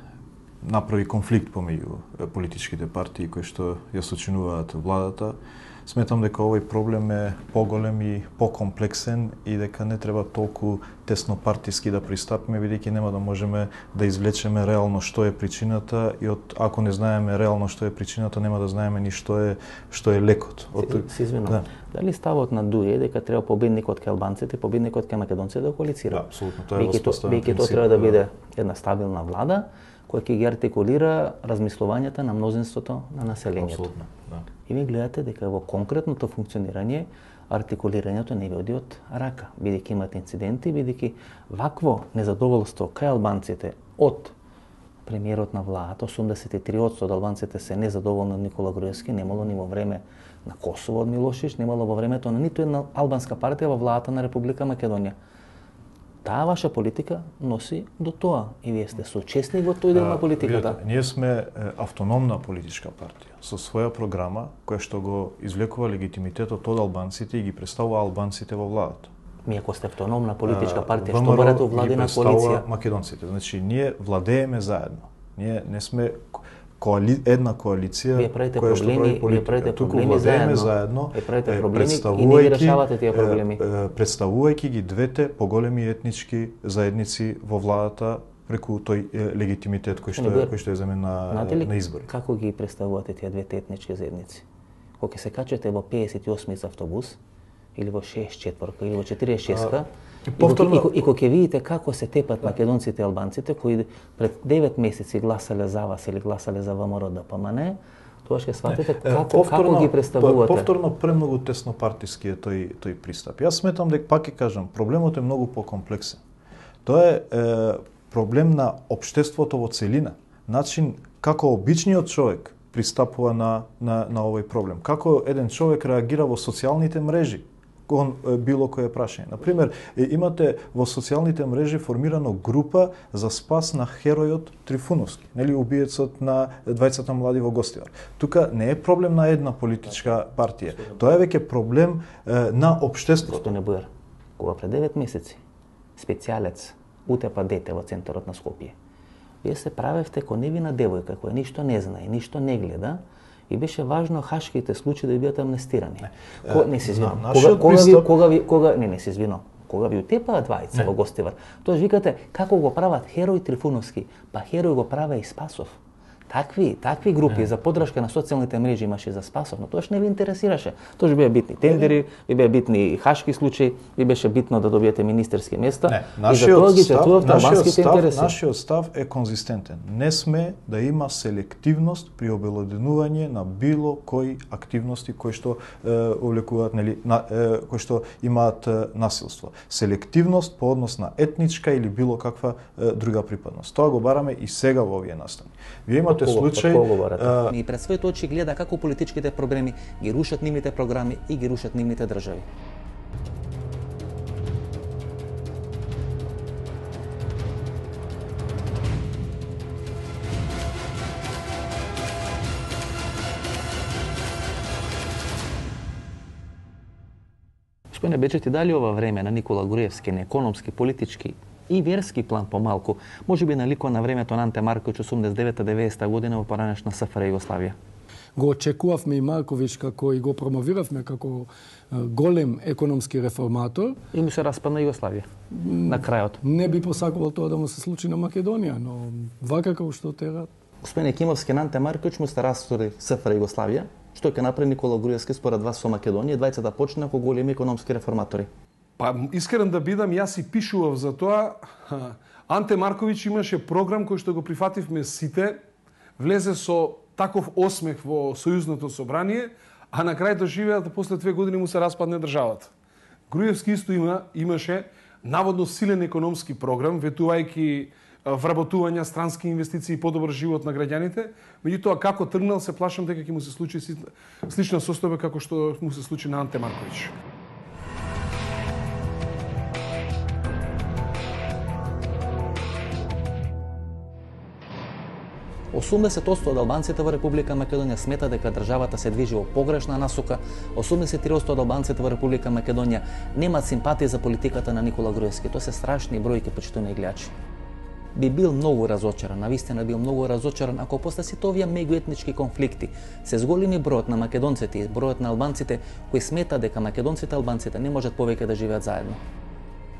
D: направи конфликт помеѓу политичките партии кои што ја сочинуваат владата. Сметам дека овој проблем е поголем и покомплексен и дека не треба толку тесно партиски да пристапиме, бидејќи нема да можеме да извлечеме реално што е причината и од ако не знаеме реално што е причината, нема да знаеме ни што е што е лекот.
A: Од се извинувам. Да. Дали ставот на ДУИ е дека треба победникот кај албанците, победникот кај македонците да коалицира?
D: Да, апсолутно, тоа е воспоставен
A: принцип. Веќе тоа треба да биде една стабилна влада која ќе ги артикулира размислувањата на мнозинството на населението.
D: Апсолутно, да.
A: И ви гледате дека во конкретното функционирање артикулирањето не ви оди од рака, бидејќи имате инциденти, бидејќи вакво незадоволство кај албанците од премиерот на владата, осумдесет и три одсто од албанците се незадоволни од Никола Груевски, немало ни во време на Косово од Милошевич, немало во времето на ниту една албанска партија во владата на Република Македонија. Таа ваша политика носи до тоа и вие сте соучесни во тој дел на политиката.
D: Видете, ние сме автономна политичка партија со своја програма која што го извлекува легитимитетот од албанците и ги представува албанците во владата.
A: Ми ако сте автономна политичка партија, што барате владина коалиција?
D: Македонците, значи ние владееме заедно. Ние не сме коали... една коалиција
A: која што прави политика. Вие правите проблеми заедно.
D: заедно
A: Вие правите проблеми и не ги решавате тие проблеми.
D: Представувајќи ги двете поголеми етнички заедници во владата преку тој легитимитет кој што е, кој што е земен на на избори.
A: Како ги представувате тие двете етнички заедници? Кога се качате во пеесет и осми автобус или во шеесет и четвртка или во четиридесет и шеста, И, повторно... и, и, и кога ќе видите како се тепат македонците и албанците кои пред девет месеци гласале за вас или гласале за ВМРО Д П М Н, тоа ќе сватите како, повторно, како ги представувате.
D: Повторно премногу тесно партиски е тој тој пристап. Јас сметам дека пак ќе кажам, проблемот е многу покомплексен. Тоа е, е проблем на општеството во целина, начин како обичниот човек пристапува на на на овој проблем. Како еден човек реагира во социјалните мрежи кон било кое прашање. Например, имате во социјалните мрежи формирано група за спас на херојот Трифуновски, нели убиецот на двајцата млади во Гостивар. Тука не е проблем на една политичка партија. Тоа е веќе проблем е, на општеството.
A: Што не буер. Кога пред девет месеци специјалец утепа дете во центарот на Скопје. Вие се правевте ко невина девојка која ништо не знае, ништо не гледа. И беше важно хашките случаи да бидат амнестирани. Не, Ко, не се извинувам. Кога, кога, приступ... ви, кога, ви, кога, не, не се извинувам. Кога ви утепаат двајца во Гостивар, тоа викате како го прават Херој Трифуновски, па Херој го праве и Спасов. Такви, такви групи не. За поддршка на социјалните мрежи имаше за Спасов, но тоа не ви интересираше. Тоа ќе беа битни тендери, ви беа битни хашки случаи, ви беше битно да добиете министерски места.
D: Не,
A: и за тоа ги четував албанските интереси.
D: Нашиот став е конзистентен. Не сме да има селективност при обелоденување на било кои активности кои што е, увлекуваат, нели, на, е, кои што имаат е, насилство. Селективност по однос на етничка или било каква е, друга припадност. Тоа го бараме и сега во овие настани. Вие имате случај
A: а... и пред своите очи гледа како политичките проблеми ги рушат нивните програми и ги рушат нивните држави. Господине Бечети, дали ова време на Никола Груевски, на економски, политички и верски план помалку, може би наликува на времето на Анте Марковиќ осумдесет и девета деветдесета година во поранешна С Ф Р Југославија?
I: Го очекувавме и Марковиќ како и го промовиравме како голем економски реформатор.
A: И му се распадна Југославија на крајот.
I: Не би посакувал тоа да му се случи на Македонија, но вака како што тера.
A: Господине Кимовски, на Анте Марковиќ му се растури С Ф Р Југославија. Што ќе направи Никола Груевски според вас со Македонија? Двајцата почна како големи економски реформатори.
J: Па искрен да бидам, јас и пишував за тоа. Анте Марковиќ имаше програм кој што го прифативме сите, влезе со таков осмех во Сојузното собрание, а на крај доживеа да после две години му се распадне државата. Груевски исто има, имаше наводно силен економски програм, ветувајќи вработувања, странски инвестиции и подобар живот на граѓаните. Меѓутоа, како тргнал, се плашам дека ќе му се случи слична состојба како што му се случи на Анте Марковиќ.
A: осумдесет одсто од албанците во Република Македонија смета дека државата се движи во погрешна насока, осумдесет и три одсто од албанците во Република Македонија немаат симпатија за политиката на Никола Груевски. Тоа се страшни бројки, почитувани гледачи. Би бил многу разочаран, навистина бил многу разочаран ако после сите овие меѓуетнички конфликти се зголеми бројот на македонците и бројот на албанците кои сметаат дека македонците и албанците не можат повеќе да живеат заедно.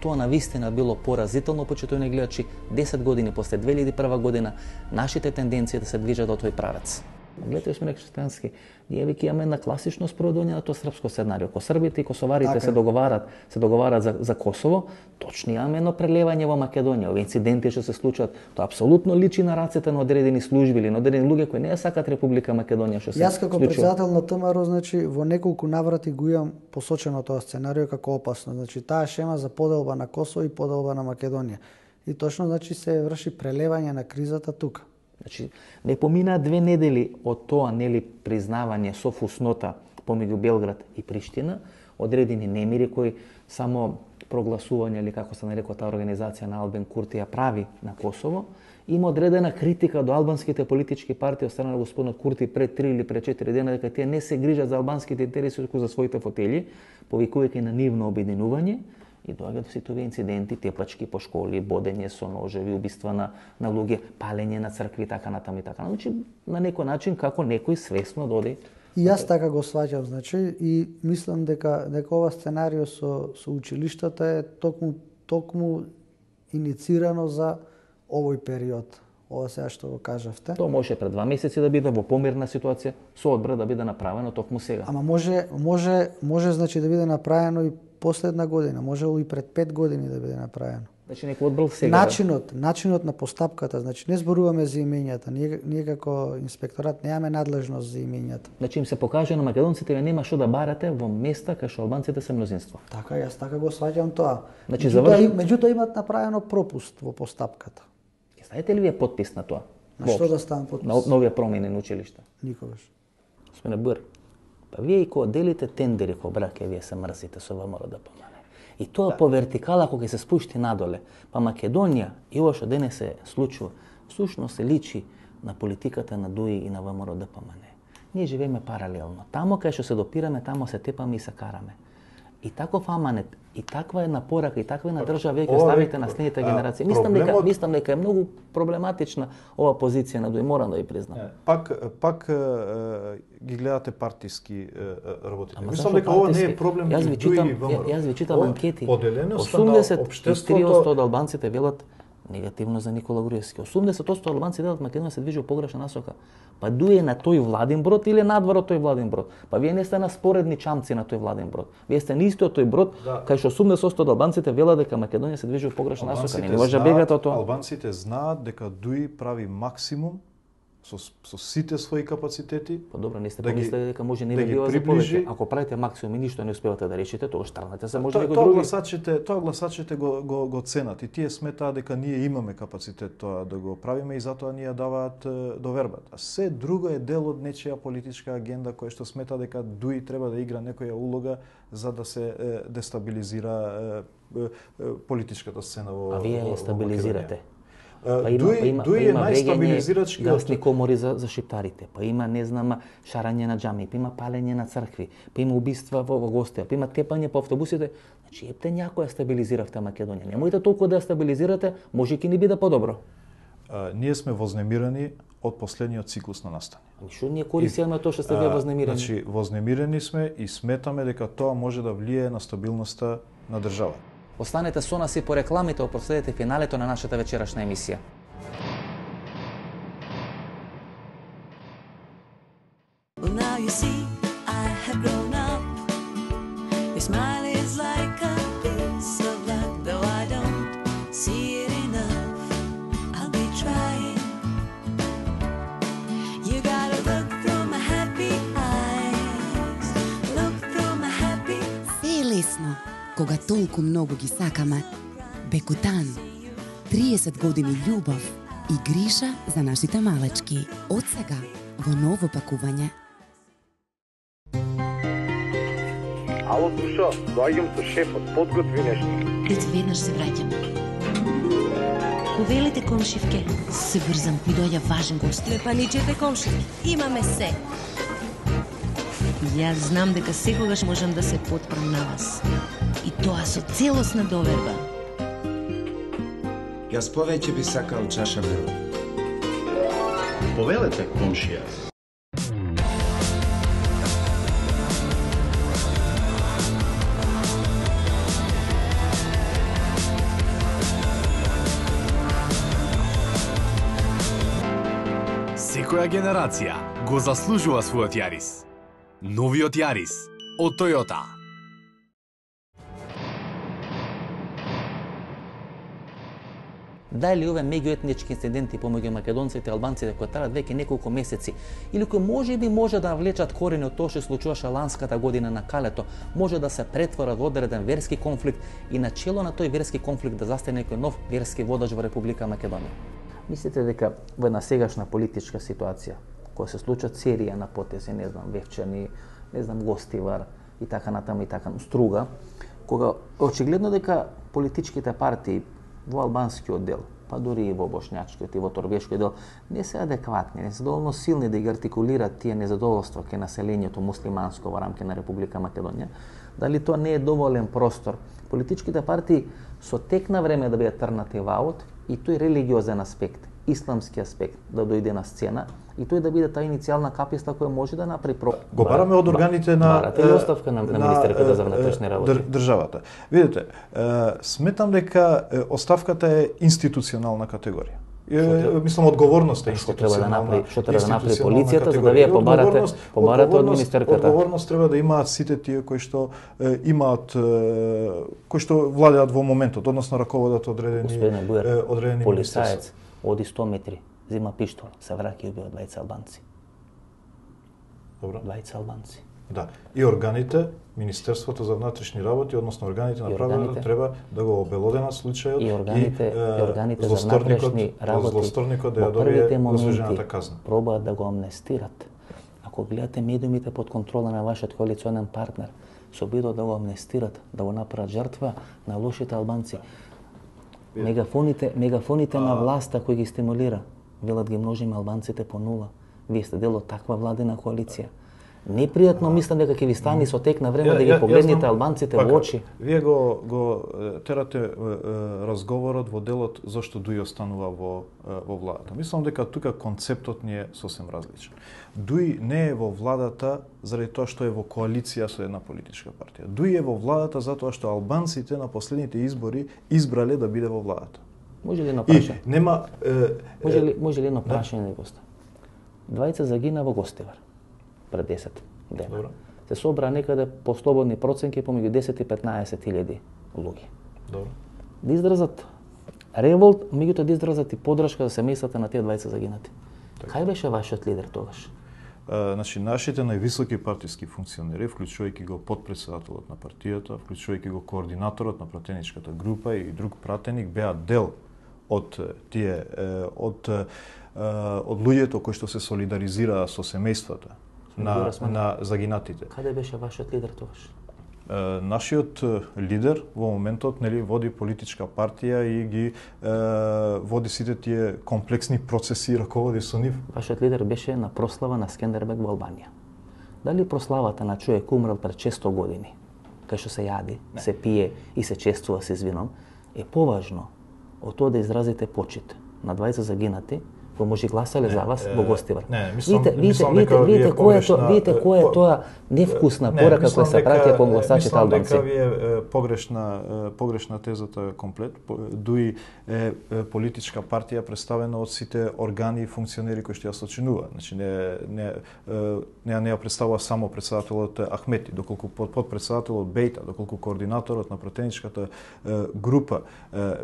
A: Тоа навистина било поразително, почитувани гледачи, десет години после две илјади и прва година, нашите тенденции да се движат во тој правец. Гледате, сме христијански, ние веќе имаме на класично спроведување на тоа српско сценарио. Ако србите и косоварите така се договарат, се договарат за, за Косово, точно имаме едно прелевање во Македонија. Овие инциденти што се случат, тоа апсолутно личи на рацете на одредени служби или на одредени луѓе кои не ја сакат Република Македонија што се
G: Јас како председател на ТМРО, значи во неколку наврати го имам посочено тоа сценарио како опасно. Значи таа шема за поделба на Косово и поделба на Македонија. И точно значи се врши прелевање на кризата тука.
A: Значи, не поминаа две недели од тоа, нели, признавање со фуснота помеѓу Белград и Приштина, одредени немири кои само прогласување или како се нарекува таа организација на Албен Курти ја прави на Косово, има одредена критика до албанските политички партии од страна на господинот Курти пред три или пред четири дена дека тие не се грижат за албанските интереси туку за своите фотели, повикувајќи на нивно обединување. И доаѓаат сите овие инциденти, тепачки по школи, бодење со ножеви, убиства на, на луѓе, палење на цркви, така натаму и така. Значи, на некој начин како некој свесно доди.
G: И јас така го сваќам, значи, и мислам дека дека ова сценарио со со училиштата е токму токму иницирано за овој период. Ова сега што го кажавте.
A: Тоа може пред два месеци да биде во помирна ситуација, со одбра да биде направено токму сега.
G: Ама може може може значи да биде направено и последна година, можело и пред пет години да биде направено.
A: Значи некој одбрал сега.
G: Начинот, начинот на постапката, значи не зборуваме за имењата. Ние, ние како инспекторат немаме надлежност за имењата.
A: Значи им се покаже на македонците, нема што да барате во места кај што албанците се мнозинство.
G: Така, јас така го сваќам тоа.
A: Значи
G: меѓутоа,
A: заврш...
G: меѓутоа имат направено пропуст во постапката.
A: Знаете ли вие подпис на тоа?
G: На што да ставам подпис?
A: На нови промени на училишта.
G: Никогаш.
A: Сме Бър. Па вие и кога делите тендери ко браке, вие се мрзите со ВМРО да помане. И тоа да. По вертикала кога се спушти надоле. Па Македонија и ова што денес се случува, всушност се личи на политиката на ДУИ и на ВМРО да помане. Ние живееме паралелно. Тамо кај што се допираме, тамо се тепаме и се караме. И таков аманет, и таква една порака, и таква една држава веќе ставите на следните генерации. Мислам дека мислам дека е многу проблематична ова позиција на ДУИ, морам да ја признам.
D: Пак пак ги гледате партиски работите. Мислам дека ова не е проблем
A: меѓу ДУИ и ВМРО. Јас ви читам анкети. осумдесет и три одсто од албанците велат негативно за Никола Груевски. осумдесет одсто од албанците велат Македонија се движи во погрешна насока. Па ДУИ е на тој владин брод или надвор од тој владин брод? Па вие не сте на споредни чамци на тој владин брод. Вие сте на истиот тој брод, да. Кај што осумдесет одсто од албанците велат дека Македонија се движи во погрешна насока. Не може да бегате од тоа.
D: Албанците знаат дека ДУИ прави максимум со со сите своји капацитети.
A: Па добро, не сте да помислили дека може не да бива за повеќе. Ако правите максимум и ништо не успевате да решите, тоа штрнете се може некој други.
D: Гласачите, тоа гласачите го го го ценат и тие сметаат дека ние имаме капацитет тоа да го правиме и затоа ние даваат довербата. А се друго е дел од нечија политичка агенда која што смета дека ДУИ треба да игра некоја улога за да се дестабилизира политичката сцена во.
A: А вие ја стабилизирате.
D: Па има, ДУИ, па има, ДУИ е најстабилизирачки
A: гасни комори за, за шиптарите, па има, не знам, шарање на џами, па има палење на цркви, па има убиства во, во гостија, па има тепање по автобусите. Значи, епте някој ја стабилизиравте Македонија. Немојте толку да ја стабилизирате, може ќе ни биде подобро.
D: А, ние сме вознемирани од последниот циклус на настани.
A: Ами што ние користиме тоа што сте вие вознемирани?
D: Значи, вознемирани сме и сметаме дека тоа може да влие на стабилноста на државата.
A: Останете со нас и по рекламите, проследете финалето на нашата вечерашна емисија. Well, now you see, I have grown up. Your smile is like a
K: кога толку многу ги сакаме. Бекутан. триесет години љубов и гриша за нашите малечки. Од сега во ново пакување.
L: Ало, Тушо, доаѓам со шефот, подготви нешто.
M: Дец веднаш се враќам. Повелите, комшивке, се брзам, ми доаѓа важен гост.
N: Не паничете, комшивки, имаме се.
M: Јас знам дека секогаш можам да се потпрам на вас. И тоа со целосна доверба.
O: Јас повеќе би сакал чаша мела.
S: Повелете, комшија.
Q: Секоја генерација го заслужува својот Јарис. Новиот Јарис од Toyota.
A: Дали овие меѓуетнички инциденти помеѓу македонците и албанците кои траат веќе неколку месеци или кои можеби може да влечат корени од тоа што се случуваше ланската година на Калето, може да се претворат во одреден верски конфликт и на чело на тој верски конфликт да застане некој нов верски водач во Република Македонија? Мислите дека во една сегашна политичка ситуација, која се случат серија на потези, не знам, Вевчани, не знам, Гостивар и така натаму и така, Струга, кога очигледно дека политичките партии во албанскиот дел, па дури и во бошњачкиот и во торбешкиот дел, не се адекватни, не се доволно силни да ги артикулираат тие незадоволства кај населението муслиманско во рамки на Република Македонија, дали тоа не е доволен простор политичките партии со тек на време да бидат трнати во аут и тој религиозен аспект, исламски аспект да дојде на сцена и тој да биде таа иницијална каписта која може да направи про...
D: Го бараме од органите на...
A: Барате ли оставка на, на министерката за внатрешни работи?
D: Држ, државата. Видите, сметам дека оставката е институционална категорија. Е, мислам, одговорноста е институционална.
A: Што треба да направи полицијата за да вие побарате, побарате од министерката?
D: Одговорност треба да имаат сите тие кои што е, имаат, е, кои што владеат во моментот, односно раководат одредени,
A: Господине Бујар,
D: е, одредени
A: полицаец оди сто метри, зима пиштол, се враќа и убива двајца албанци.
D: Добро.
A: Двајца албанци.
D: Да, и органите, Министерството за внатрешни работи, односно органите на правото треба да го обелоденат случајот
A: и органите,
D: и,
A: и органите за внатрешни работи
D: злосторникот да ја
A: во
D: добие
A: првите моменти
D: заслужената казна.
A: Пробаат да го амнестират. Ако гледате медиумите под контрола на вашиот коалиционен партнер, се обидуваат да го амнестират, да го направат жртва на лошите албанци. Мегафоните, мегафоните а... на власта кои ги стимулира, велат ги множиме албанците по нула. Вие сте дел од таква владена коалиција. Непријатно мислам дека ќе ви стане со тек на време
D: ја,
A: да ги
D: ја,
A: погледнете
D: знам,
A: албанците
D: пака,
A: во очи.
D: Вие го, го терате е, разговорот во делот зашто Дуј останува во, во владата. Мислам дека тука концептот ни е сосем различен. Дуј не е во владата заради тоа што е во коалиција со една политичка партија. Дуј е во владата затоа што албанците на последните избори избрале да биде во владата.
A: Може ли едно прашање?
D: Нема е,
A: може ли може ли едно прашање да поста? Двајца загина во Гостивар пред десет дена. Добро. Се собра некаде по слободни проценки помеѓу десет и петнаесет илјади луѓе.
D: Добро.
A: Да изразат револт, меѓутоа да изразат и поддршка за семејствата на тие двајца загинати. Так. Кај беше вашиот лидер тогаш?
D: Uh, значи, нашите највисоки партиски функционери, вклучувајќи го подпредседателот на партијата, вклучувајќи го координаторот на пратеничката група и друг пратеник, беа дел од тие од од луѓето кои што се солидаризираа со семејствата на, на загинатите.
A: Каде беше вашиот лидер тогаш?
D: Нашиот лидер во моментот нели води политичка партија и ги е, води сите тие комплексни процеси и раководи со нив.
A: Вашиот лидер беше на прослава на Скендербег во Албанија. Дали прославата на човек умрел пред шесто години, кај што се јади, не. се пие и се чествува се вином, е поважно од тоа да изразите почит на двајца загинати кои може гласале за вас во Гостивар.
D: Не, мислам,
A: видите,
D: мислам
A: видите,
D: дека
A: видите, кој е
D: погрешна,
A: тоа, видите кој е тоа невкусна порака која се праќа кон гласачите албанци.
D: Мислам дека ви е погрешна погрешна тезата комплет. Дуи е политичка партија представена од сите органи и функционери кои што ја сочинуваат. Значи не не не не ја представува само претседателот Ахмети, доколку подпредседателот Бејта, доколку координаторот на пратеничката група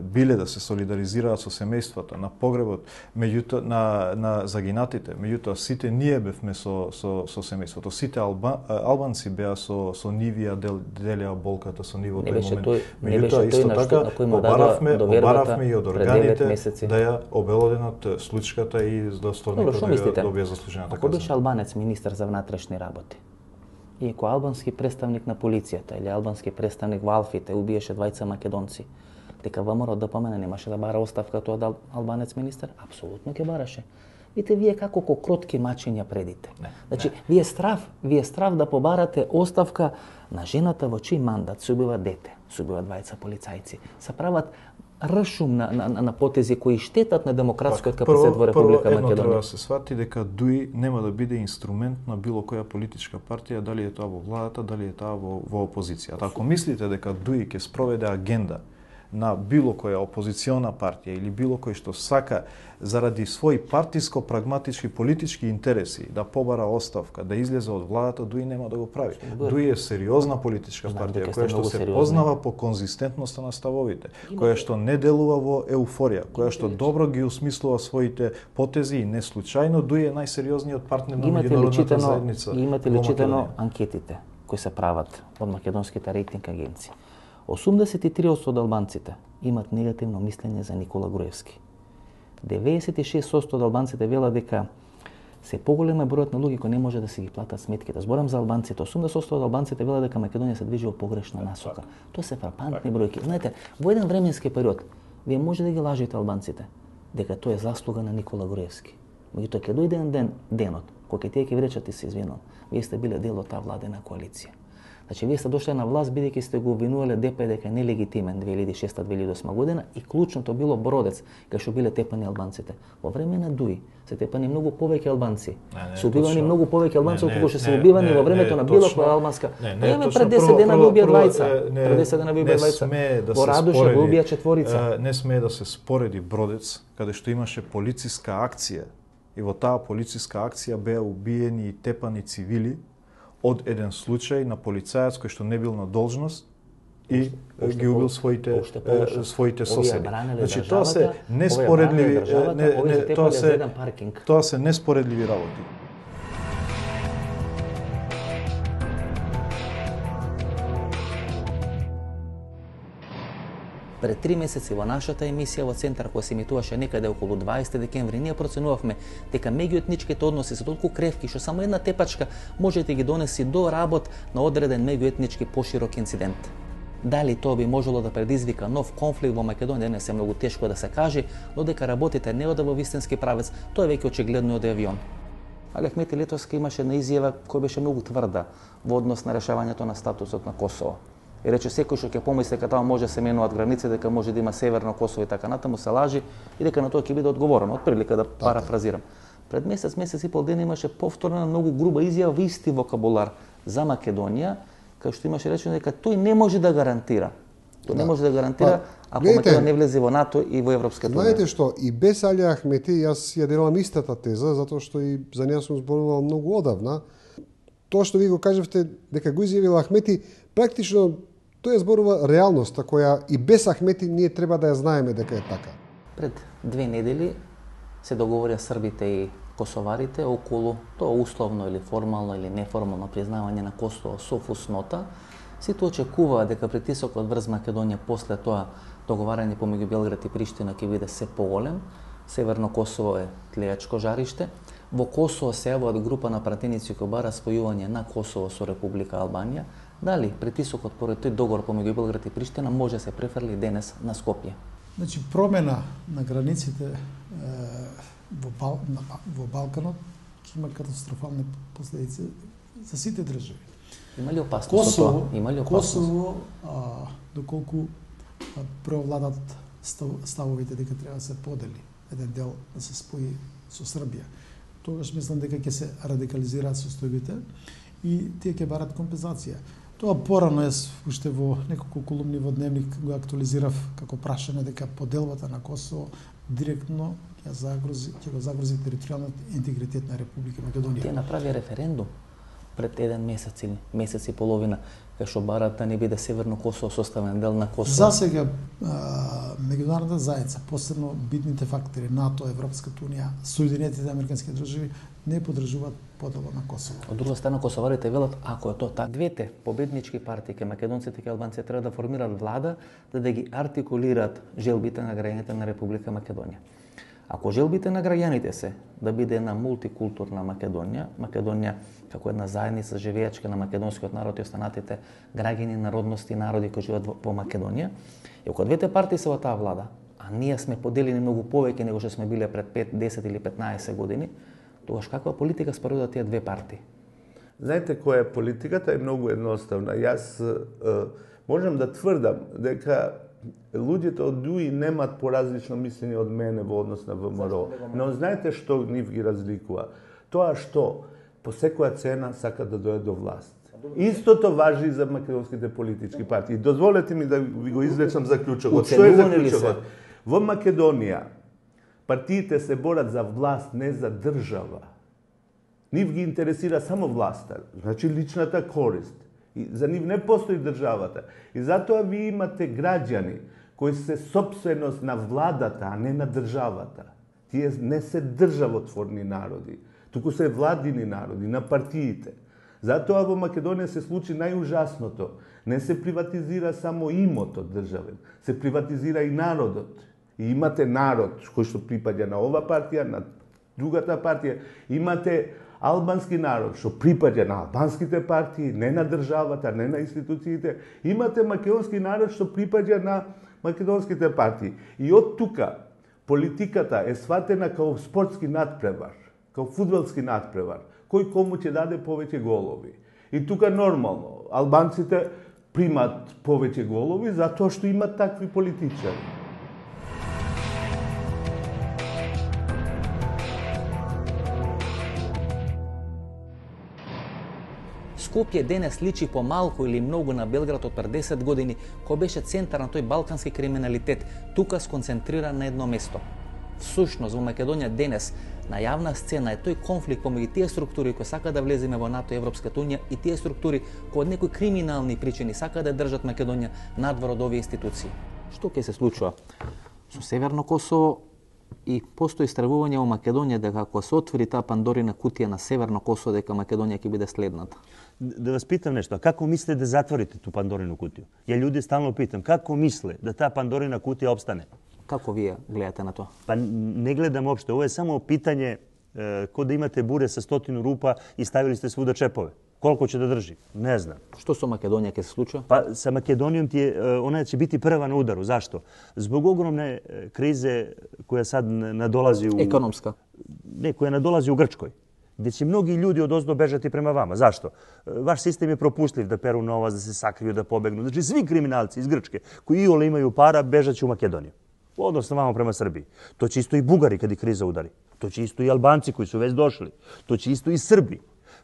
D: биле да се солидаризираат со семејствата на погребот, меѓутоа меѓутоа на на загинатите, меѓутоа сите ние бевме со со со семејството. Сите алба, албанци беа со со нивија дел, делеа болката со нивото
A: не беше
D: момент.
A: Тој, не беше
D: меѓутоа исто
A: тој
D: така побаравме, побаравме и од органите да ја обелоденат случката и достојниот да добија заслужената
A: казна. Ако беше
D: казна.
A: албанец министар за внатрешни работи и ако албански представник на полицијата или албански представник во Алфите убиеше двајца македонци, дека ВМРО ДПМН немаше да бара оставка тоа да албанец министар? Апсолутно ќе бараше. Видите, вие како ко кротки мачиња предите. Не, значи, не. вие страв, вие страв да побарате оставка на жената во чиј мандат се убива дете, се убива двајца полицајци, се прават ршум на, на, на потези кои штетат на демократскиот капацитет во Република Македонија.
D: Прво, едно треба да се свати дека ДУИ нема да биде инструмент на било која политичка партија, дали е тоа во владата, дали е тоа во, во опозицијата. Ако мислите дека ДУИ ќе спроведе агенда на било која опозициона партија или било кој што сака заради своји партиско-прагматички политички интереси да побара оставка, да излезе од владата, ДУИ нема да го прави. ДУИ е сериозна политичка партија која што се сериозни. познава по конзистентноста на ставовите, која што не делува во еуфорија, која што добро ги осмислува своите потези и не случајно ДУИ е најсериозниот партнер на меѓународната заедница.
A: Имате ли читано анкетите кои се прават од македонските рейтинг агенции? осумдесет и три одсто од албанците имат негативно мислење за Никола Груевски. деветдесет и шест одсто од албанците велат дека се поголем е бројот на луѓе кои не може да си ги платат сметките. Зборам за албанците. осумдесет одсто од албанците велат дека Македонија се движи во погрешна насока. Тоа се фрапантни бројки. Знаете, во еден временски период вие може да ги лажете албанците дека тоа е заслуга на Никола Груевски. Меѓутоа ќе дојде еден ден, денот кога ќе тие ќе ви речат и се извинувам. Вие сте биле дел од таа владена коалиција. Значи, вие сте дошле на власт бидејќи сте го обвинувале ДП дека е нелегитимен две илјади и шеста - две илјади и осма година и клучното било Бродец, кај што биле тепани албанците. Во време на ДУИ се тепани многу повеќе албанци. Се убивани многу повеќе албанци отколку што се убивани во времето на било која албанска. Еме пред десет дена ви убија двајца. Пред десет дена ви убија двајца. Во Радуша го убија четворица.
D: Не смее да се спореди Бродец, каде што имаше полициска акција и во таа полициска акција беа убиени и тепани цивили од еден случај на полицаец кој што не бил на должност и ги убил своите своите соседи. Значи тоа се неспоредливи не, не, тоа се тоа се неспоредливи работи.
A: Пред три месеци во нашата емисија во Центар, која се емитуваше некаде околу дваесети декември, ние проценувавме дека меѓуетничките односи се толку кревки што само една тепачка може да ги донеси до работ на одреден меѓуетнички поширок инцидент. Дали тоа би можело да предизвика нов конфликт во Македонија, не се многу тешко да се каже, но дека работите не ода во вистински правец, тоа е веќе очигледно од авион. Али Ахмети Летовски имаше една изјава која беше многу тврда во однос на решавањето на статусот на Косово. И рече секој што ќе помисли дека тamo може се менуваат граници, дека може да има северно Косово и така натаму, се лажи и дека на тоа ќе биде одговорено. Од прилика да парафразирам. Пред месец, месец и пол ден имаше повторна многу груба изјава во исти вокабулар за Македонија, кај што имаше речено дека тој не може да гарантира. Тој не може да гарантира ако Македонија не влезе во НАТО и во Европската унија.
E: Знаете што, и без Али Ахмети јас ја делам истата теза, затоа што и за неја сум зборувал многу одавна. Тоа што ви го кажавте дека го изјавил Ахмети, практично тоа е зборува реалноста која и без Ахмети ние треба да ја знаеме дека е така.
A: Пред две недели се договорија србите и косоварите околу тоа условно или формално или неформално признавање на Косово со фуснота. Сите очекуваа дека притисокот врз Македонија после тоа договарање помеѓу Белград и Приштина ќе биде се поголем. Северно Косово е тлејачко жариште. Во Косово се јавуваат група на пратеници кои бара спојување на Косово со Република Албанија. Дали притисокот поред тој договор помеѓу Белград и Приштина може да се префрли денес на Скопје?
B: Значи промена на границите е, во, Бал, на, во Балканот ќе има катастрофални последици за сите држави.
A: Има ли опасност Косово, тоа? Има ли опасност?
B: Косово, а, доколку преовладат став, ставовите дека треба да се подели еден дел да се спои со Србија, тогаш мислам дека ќе се радикализираат состојбите и тие ќе барат компензација. Тоа порано јас уште во неколку колумни во Дневник го актуализирав како прашање дека поделбата на Косово директно ќе загрози ќе го загрози територијалниот интегритет на Република Македонија.
A: Тие направи референдум пред еден месец или месец и половина, кај што барат да не биде Северно Косово составен дел на Косово?
B: За сега меѓународната заедница, посебно битните фактори НАТО, Европската унија, Соединетите американски држави не поддржуваат подела на Косово.
A: Од друга страна, косоварите велат, ако е тоа така, двете победнички партии, ке македонците и албанците, треба да формираат влада, да да ги артикулираат желбите на граѓаните на Република Македонија. Ако желбите на граѓаните се да биде една мултикултурна Македонија, Македонија како една заедница живеечка на македонскиот народ и останатите граѓани, народности и народи кои живеат во Македонија, и ако двете партии се во таа влада, а ние сме поделени многу повеќе него што сме биле пред пет, десет или петнаесет години, тогаш каква политика спроведуваат тие две партии?
C: Знаете која е политиката? Е многу едноставна. Јас е, можам да тврдам дека луѓето од ДУИ немаат поразлично мислење од мене во однос на ВМРО. Но знаете што нив ги разликува? Тоа што по секоја цена сакат да дојдат до власт. Истото важи и за македонските политички партии. Дозволете ми да ви го изречам заклучокот. Што е заклучокот? Во Македонија партиите се борат за власт, не за држава. Нив ги интересира само власта, значи личната корист. И за нив не постои државата. И затоа ви имате граѓани кои се собственост на владата, а не на државата. Тие не се државотворни народи, туку се владини народи, на партиите. Затоа во Македонија се случи најужасното. Не се приватизира само имотот државен, се приватизира и народот. И имате народ кој што припаѓа на ова партија, на другата партија. Имате албански народ што припаѓа на албанските партии, не на државата, не на институциите. Имате македонски народ што припаѓа на македонските партии. И од тука политиката е сватена како спортски надпревар, како фудбалски надпревар, кој кому ќе даде повеќе голови. И тука нормално, албанците примат повеќе голови затоа што имат такви политичари.
A: Скопје денес личи помалку или многу на Белград од пред десет години, кој беше центар на тој балкански криминалитет, тука сконцентриран на едно место. Всушност, во Македонија денес, на јавна сцена е тој конфликт помеѓу тие структури кои сака да влеземе во НАТО и Европската унија и тие структури кои од некои криминални причини сака да држат Македонија надвор од овие институции. Што ќе се случува со Северно Косово? И постои стравување во Македонија дека ако се отвори таа Пандорина кутија на Северно Косово, дека Македонија ќе биде следната.
H: Да вас питам нешто, а како мислите да затворите ту Пандорину кутија? Ја луѓе стално питам, како мисле да таа Пандорина кутија обстане?
A: Како вие гледате на тоа?
H: Па не гледам општо, ова е само питање е, кој да имате буре со стотину рупа и ставили сте свуда чепове. Колку ќе да држи? Не знам.
A: Што со Македонија ќе се случува?
H: Па со Македонијом ти е, она ќе biti прва на удару. Зашто? Због огромне кризе која сад надолази у
A: економска.
H: Не, која надолази у Грчкој. Где ќе многи луѓе од оздо бежат и према вама. Зашто? Ваш систем е пропустлив да перу новац, да се сакрију, да побегнат. Значи сви криминалци из Грчке кои иоле имају пара бежат у Македонија. Односно вама према Србија. То ќе исто и бугари каде криза удари. То ќе исто и албанци кои су веќе дошли. То ќе исто и срби.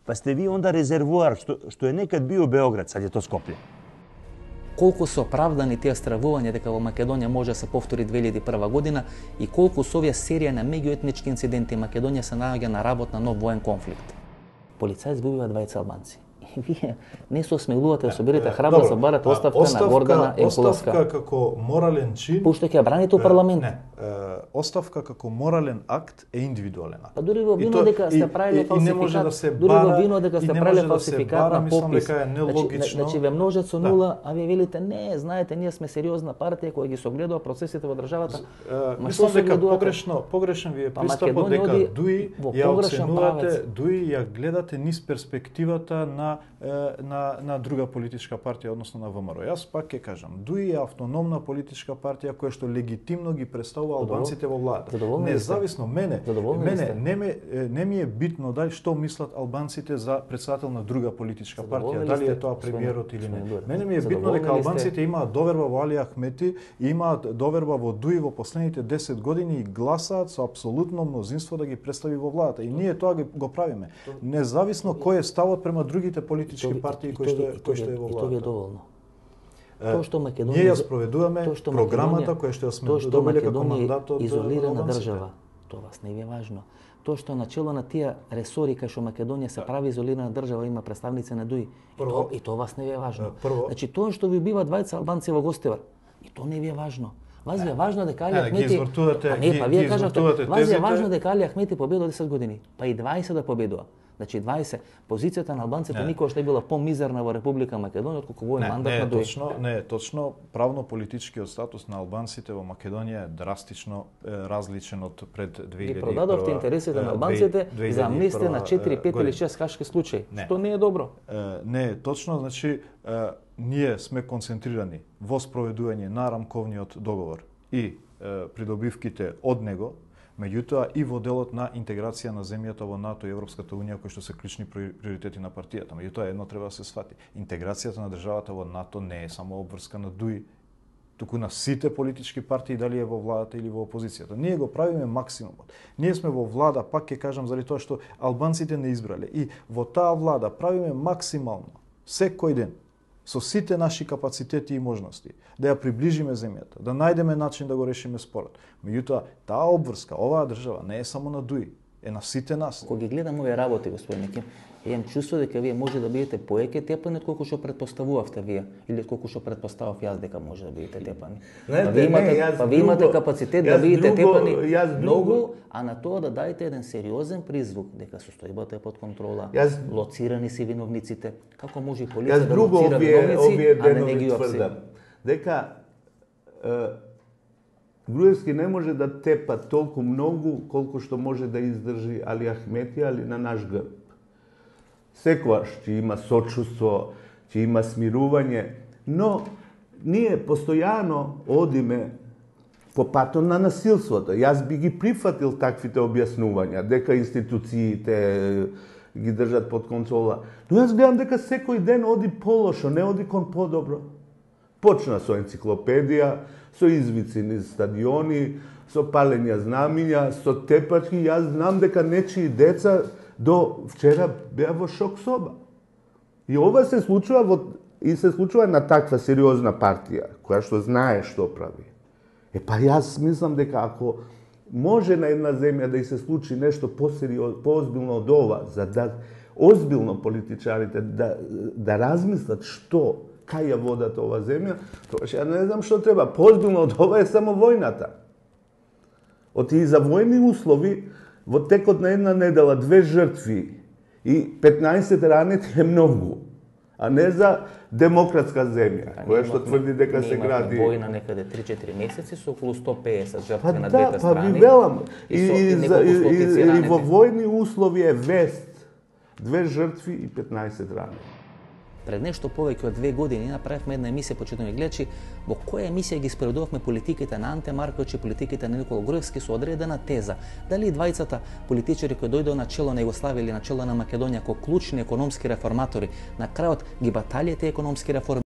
H: Па сте ви онда резервоар што, што е некад био Београд, сад е то Скопје.
A: Колку се оправдани тие стравувања дека во Македонија може да се повтори две илјади и прва година и колку со овие серија на меѓуетнички инциденти Македонија се наоѓа на работ на нов воен конфликт. Полицаи избиваат двајца албанци. И вие не се осмелувате да соберете храброст да барате оставка, оставка на Гордана Енкуловска.
D: Оставка како морален чин.
A: Пуште ќе ја браните у парламент.
D: Не, оставка како морален акт е индивидуален акт.
A: Па дури во вино дека сте правиле фалсификат. Дури во вино дека сте правиле фалсификат на попис. Значи, значи ве множат со нула, а вие велите не, знаете, ние сме сериозна партија која ги согледува процесите во државата.
D: Мислам дека погрешно, погрешен ви е пристапот дека ДУИ ја оценувате, ДУИ ја гледате низ перспективата на на на друга политичка партија, односно на ВМРО. Јас пак ќе кажам, ДУИ е автономна политичка партија која што легитимно ги представува албанците во влада. Независно мене, мене не, ме, не ми е битно дали што мислат албанците за председател на друга политичка партија, дали е тоа премиерот или не. Мене ми е битно дека албанците имаат доверба во Али Ахмети, имаат доверба во ДУИ во последните десет години и гласаат со апсолутно мнозинство да ги представи во владата. И ние тоа го правиме. Независно кој е ставот према другите политички партии кои што кои што е во владата.
A: Тоа е доволно. Тоа што Македонија
D: ние ја спроведуваме програмата која што ја сме добиле како мандат од
A: изолирана држава. Тоа вас не ви е важно. Тоа што начело на тие ресори кај што Македонија се прави изолирана држава, има представници на ДУИ. Прво, и тоа вас не ви е важно.
D: Прво,
A: значи тоа што ви убива двајца албанци во Гостивар, и тоа не ви е важно. Вас ви е важно дека Али
D: не,
A: Ахмети...
D: ги извртувате,
A: а не, па
D: ги,
A: вие
D: ги
A: кажавте,
D: извртувате
A: вас ви е
D: тезите.
A: важно дека Али Ахмети победува десет години, па и дваесет да победува. Значи дваесет, позицијата на албанците
D: Не.
A: никогаш не била помизерна во Република Македонија отколку во
D: Не,
A: мандат
D: не
A: на
D: е
A: ДУИ.
D: точно, не е точно. Правно-политичкиот статус на албанците во Македонија е драстично е, различен од пред две илјади и прва.
A: Ги продадовте интересите на албанците
D: две илјади и
A: за амнестија на четири, пет
D: година.
A: или шест хашки случаи,
D: Не.
A: што не е добро.
D: Е, не е точно, значи е, ние сме концентрирани во спроведување на рамковниот договор и е, придобивките од него, меѓутоа и во делот на интеграција на земјата во НАТО и Европската унија, кои што се клучни приоритети на партијата. Меѓутоа едно треба да се сфати. Интеграцијата на државата во НАТО не е само обврска на ДУИ, туку на сите политички партии, дали е во владата или во опозицијата. Ние го правиме максимумот. Ние сме во влада, пак ќе кажам заради тоа што албанците не избрале, и во таа влада правиме максимално секој ден со сите наши капацитети и можности да ја приближиме земјата, да најдеме начин да го решиме спорот. Меѓутоа, таа обврска, оваа држава не е само на ДУИ, е на сите нас.
A: Кога ги гледам овие работи, господин Ким, имам чувство дека вие може да бидете поеќе тепани отколку што предпоставувавте вие, или отколку што предпоставав јас дека може да бидете тепани.
C: Знаете,
A: Па вие имате,
C: не, јас
A: па вие имате
C: друго-
A: капацитет
C: јас
A: да бидете
C: друго-
A: тепани
C: јас друго-
A: многу, а на тоа да дајте еден сериозен призвук дека состојбата е под контрола,
C: Јас-
A: лоцирани се виновниците. Како може и
C: Јас
A: полиција да
C: друго
A: лоцира
C: овие,
A: виновници,
C: овие
A: а да не
C: денови
A: ги уапси?
C: тврдам. Дека е, Груевски не може да тепа толку многу колку што може да издржи Али Ахмети, али на наш грб. Секојаш ќе има сочувство, ќе има смирување, но ние постојано одиме по патот на насилството. Јас би ги прифатил таквите објаснувања, дека институциите ги држат под контрола. Но јас гледам дека секој ден оди полошо, не оди кон подобро. Почна со енциклопедија, со извици низ стадиони, со палење знамиња, со тепачки. Јас знам дека нечии деца до вчера беа во шок соба. И ова се случува во, и се случува на таква сериозна партија, која што знае што прави. Е па јас мислам дека ако може на една земја да и се случи нешто посериозно, поозбилно од ова, за да озбилно политичарите да, да размислат што, кај ја водат ова земја, тоа ја не знам што треба. Поозбилно од ова е само војната. Оти и за војни услови, во текот на една недела, две жртви и петнаесет ранети е многу, а не за демократска земја, која што тврди дека се гради.
A: Ние имавме војна некаде три-четири месеци со околу сто пеесет жртви
C: Па
A: на
C: да,
A: двете
C: па
A: страни.
C: ви велам. И,
A: И, со,
C: и,
A: и,
C: за- и,
A: неколку
C: и,
A: стотици
C: и
A: ранети.
C: во војни услови е вест. Две жртви и петнаесет ранети.
A: Пред нешто повеќе од две години направивме една емисија, почитувани гледачи, во која емисија ги споредувавме политиките на Анте Марковиќ и политиките на Никола Груевски со одредена теза. Дали двајцата политичари кои дојдоа на чело на Југославија или на чело на Македонија како клучни економски реформатори, на крајот ги баталија тие економски реформи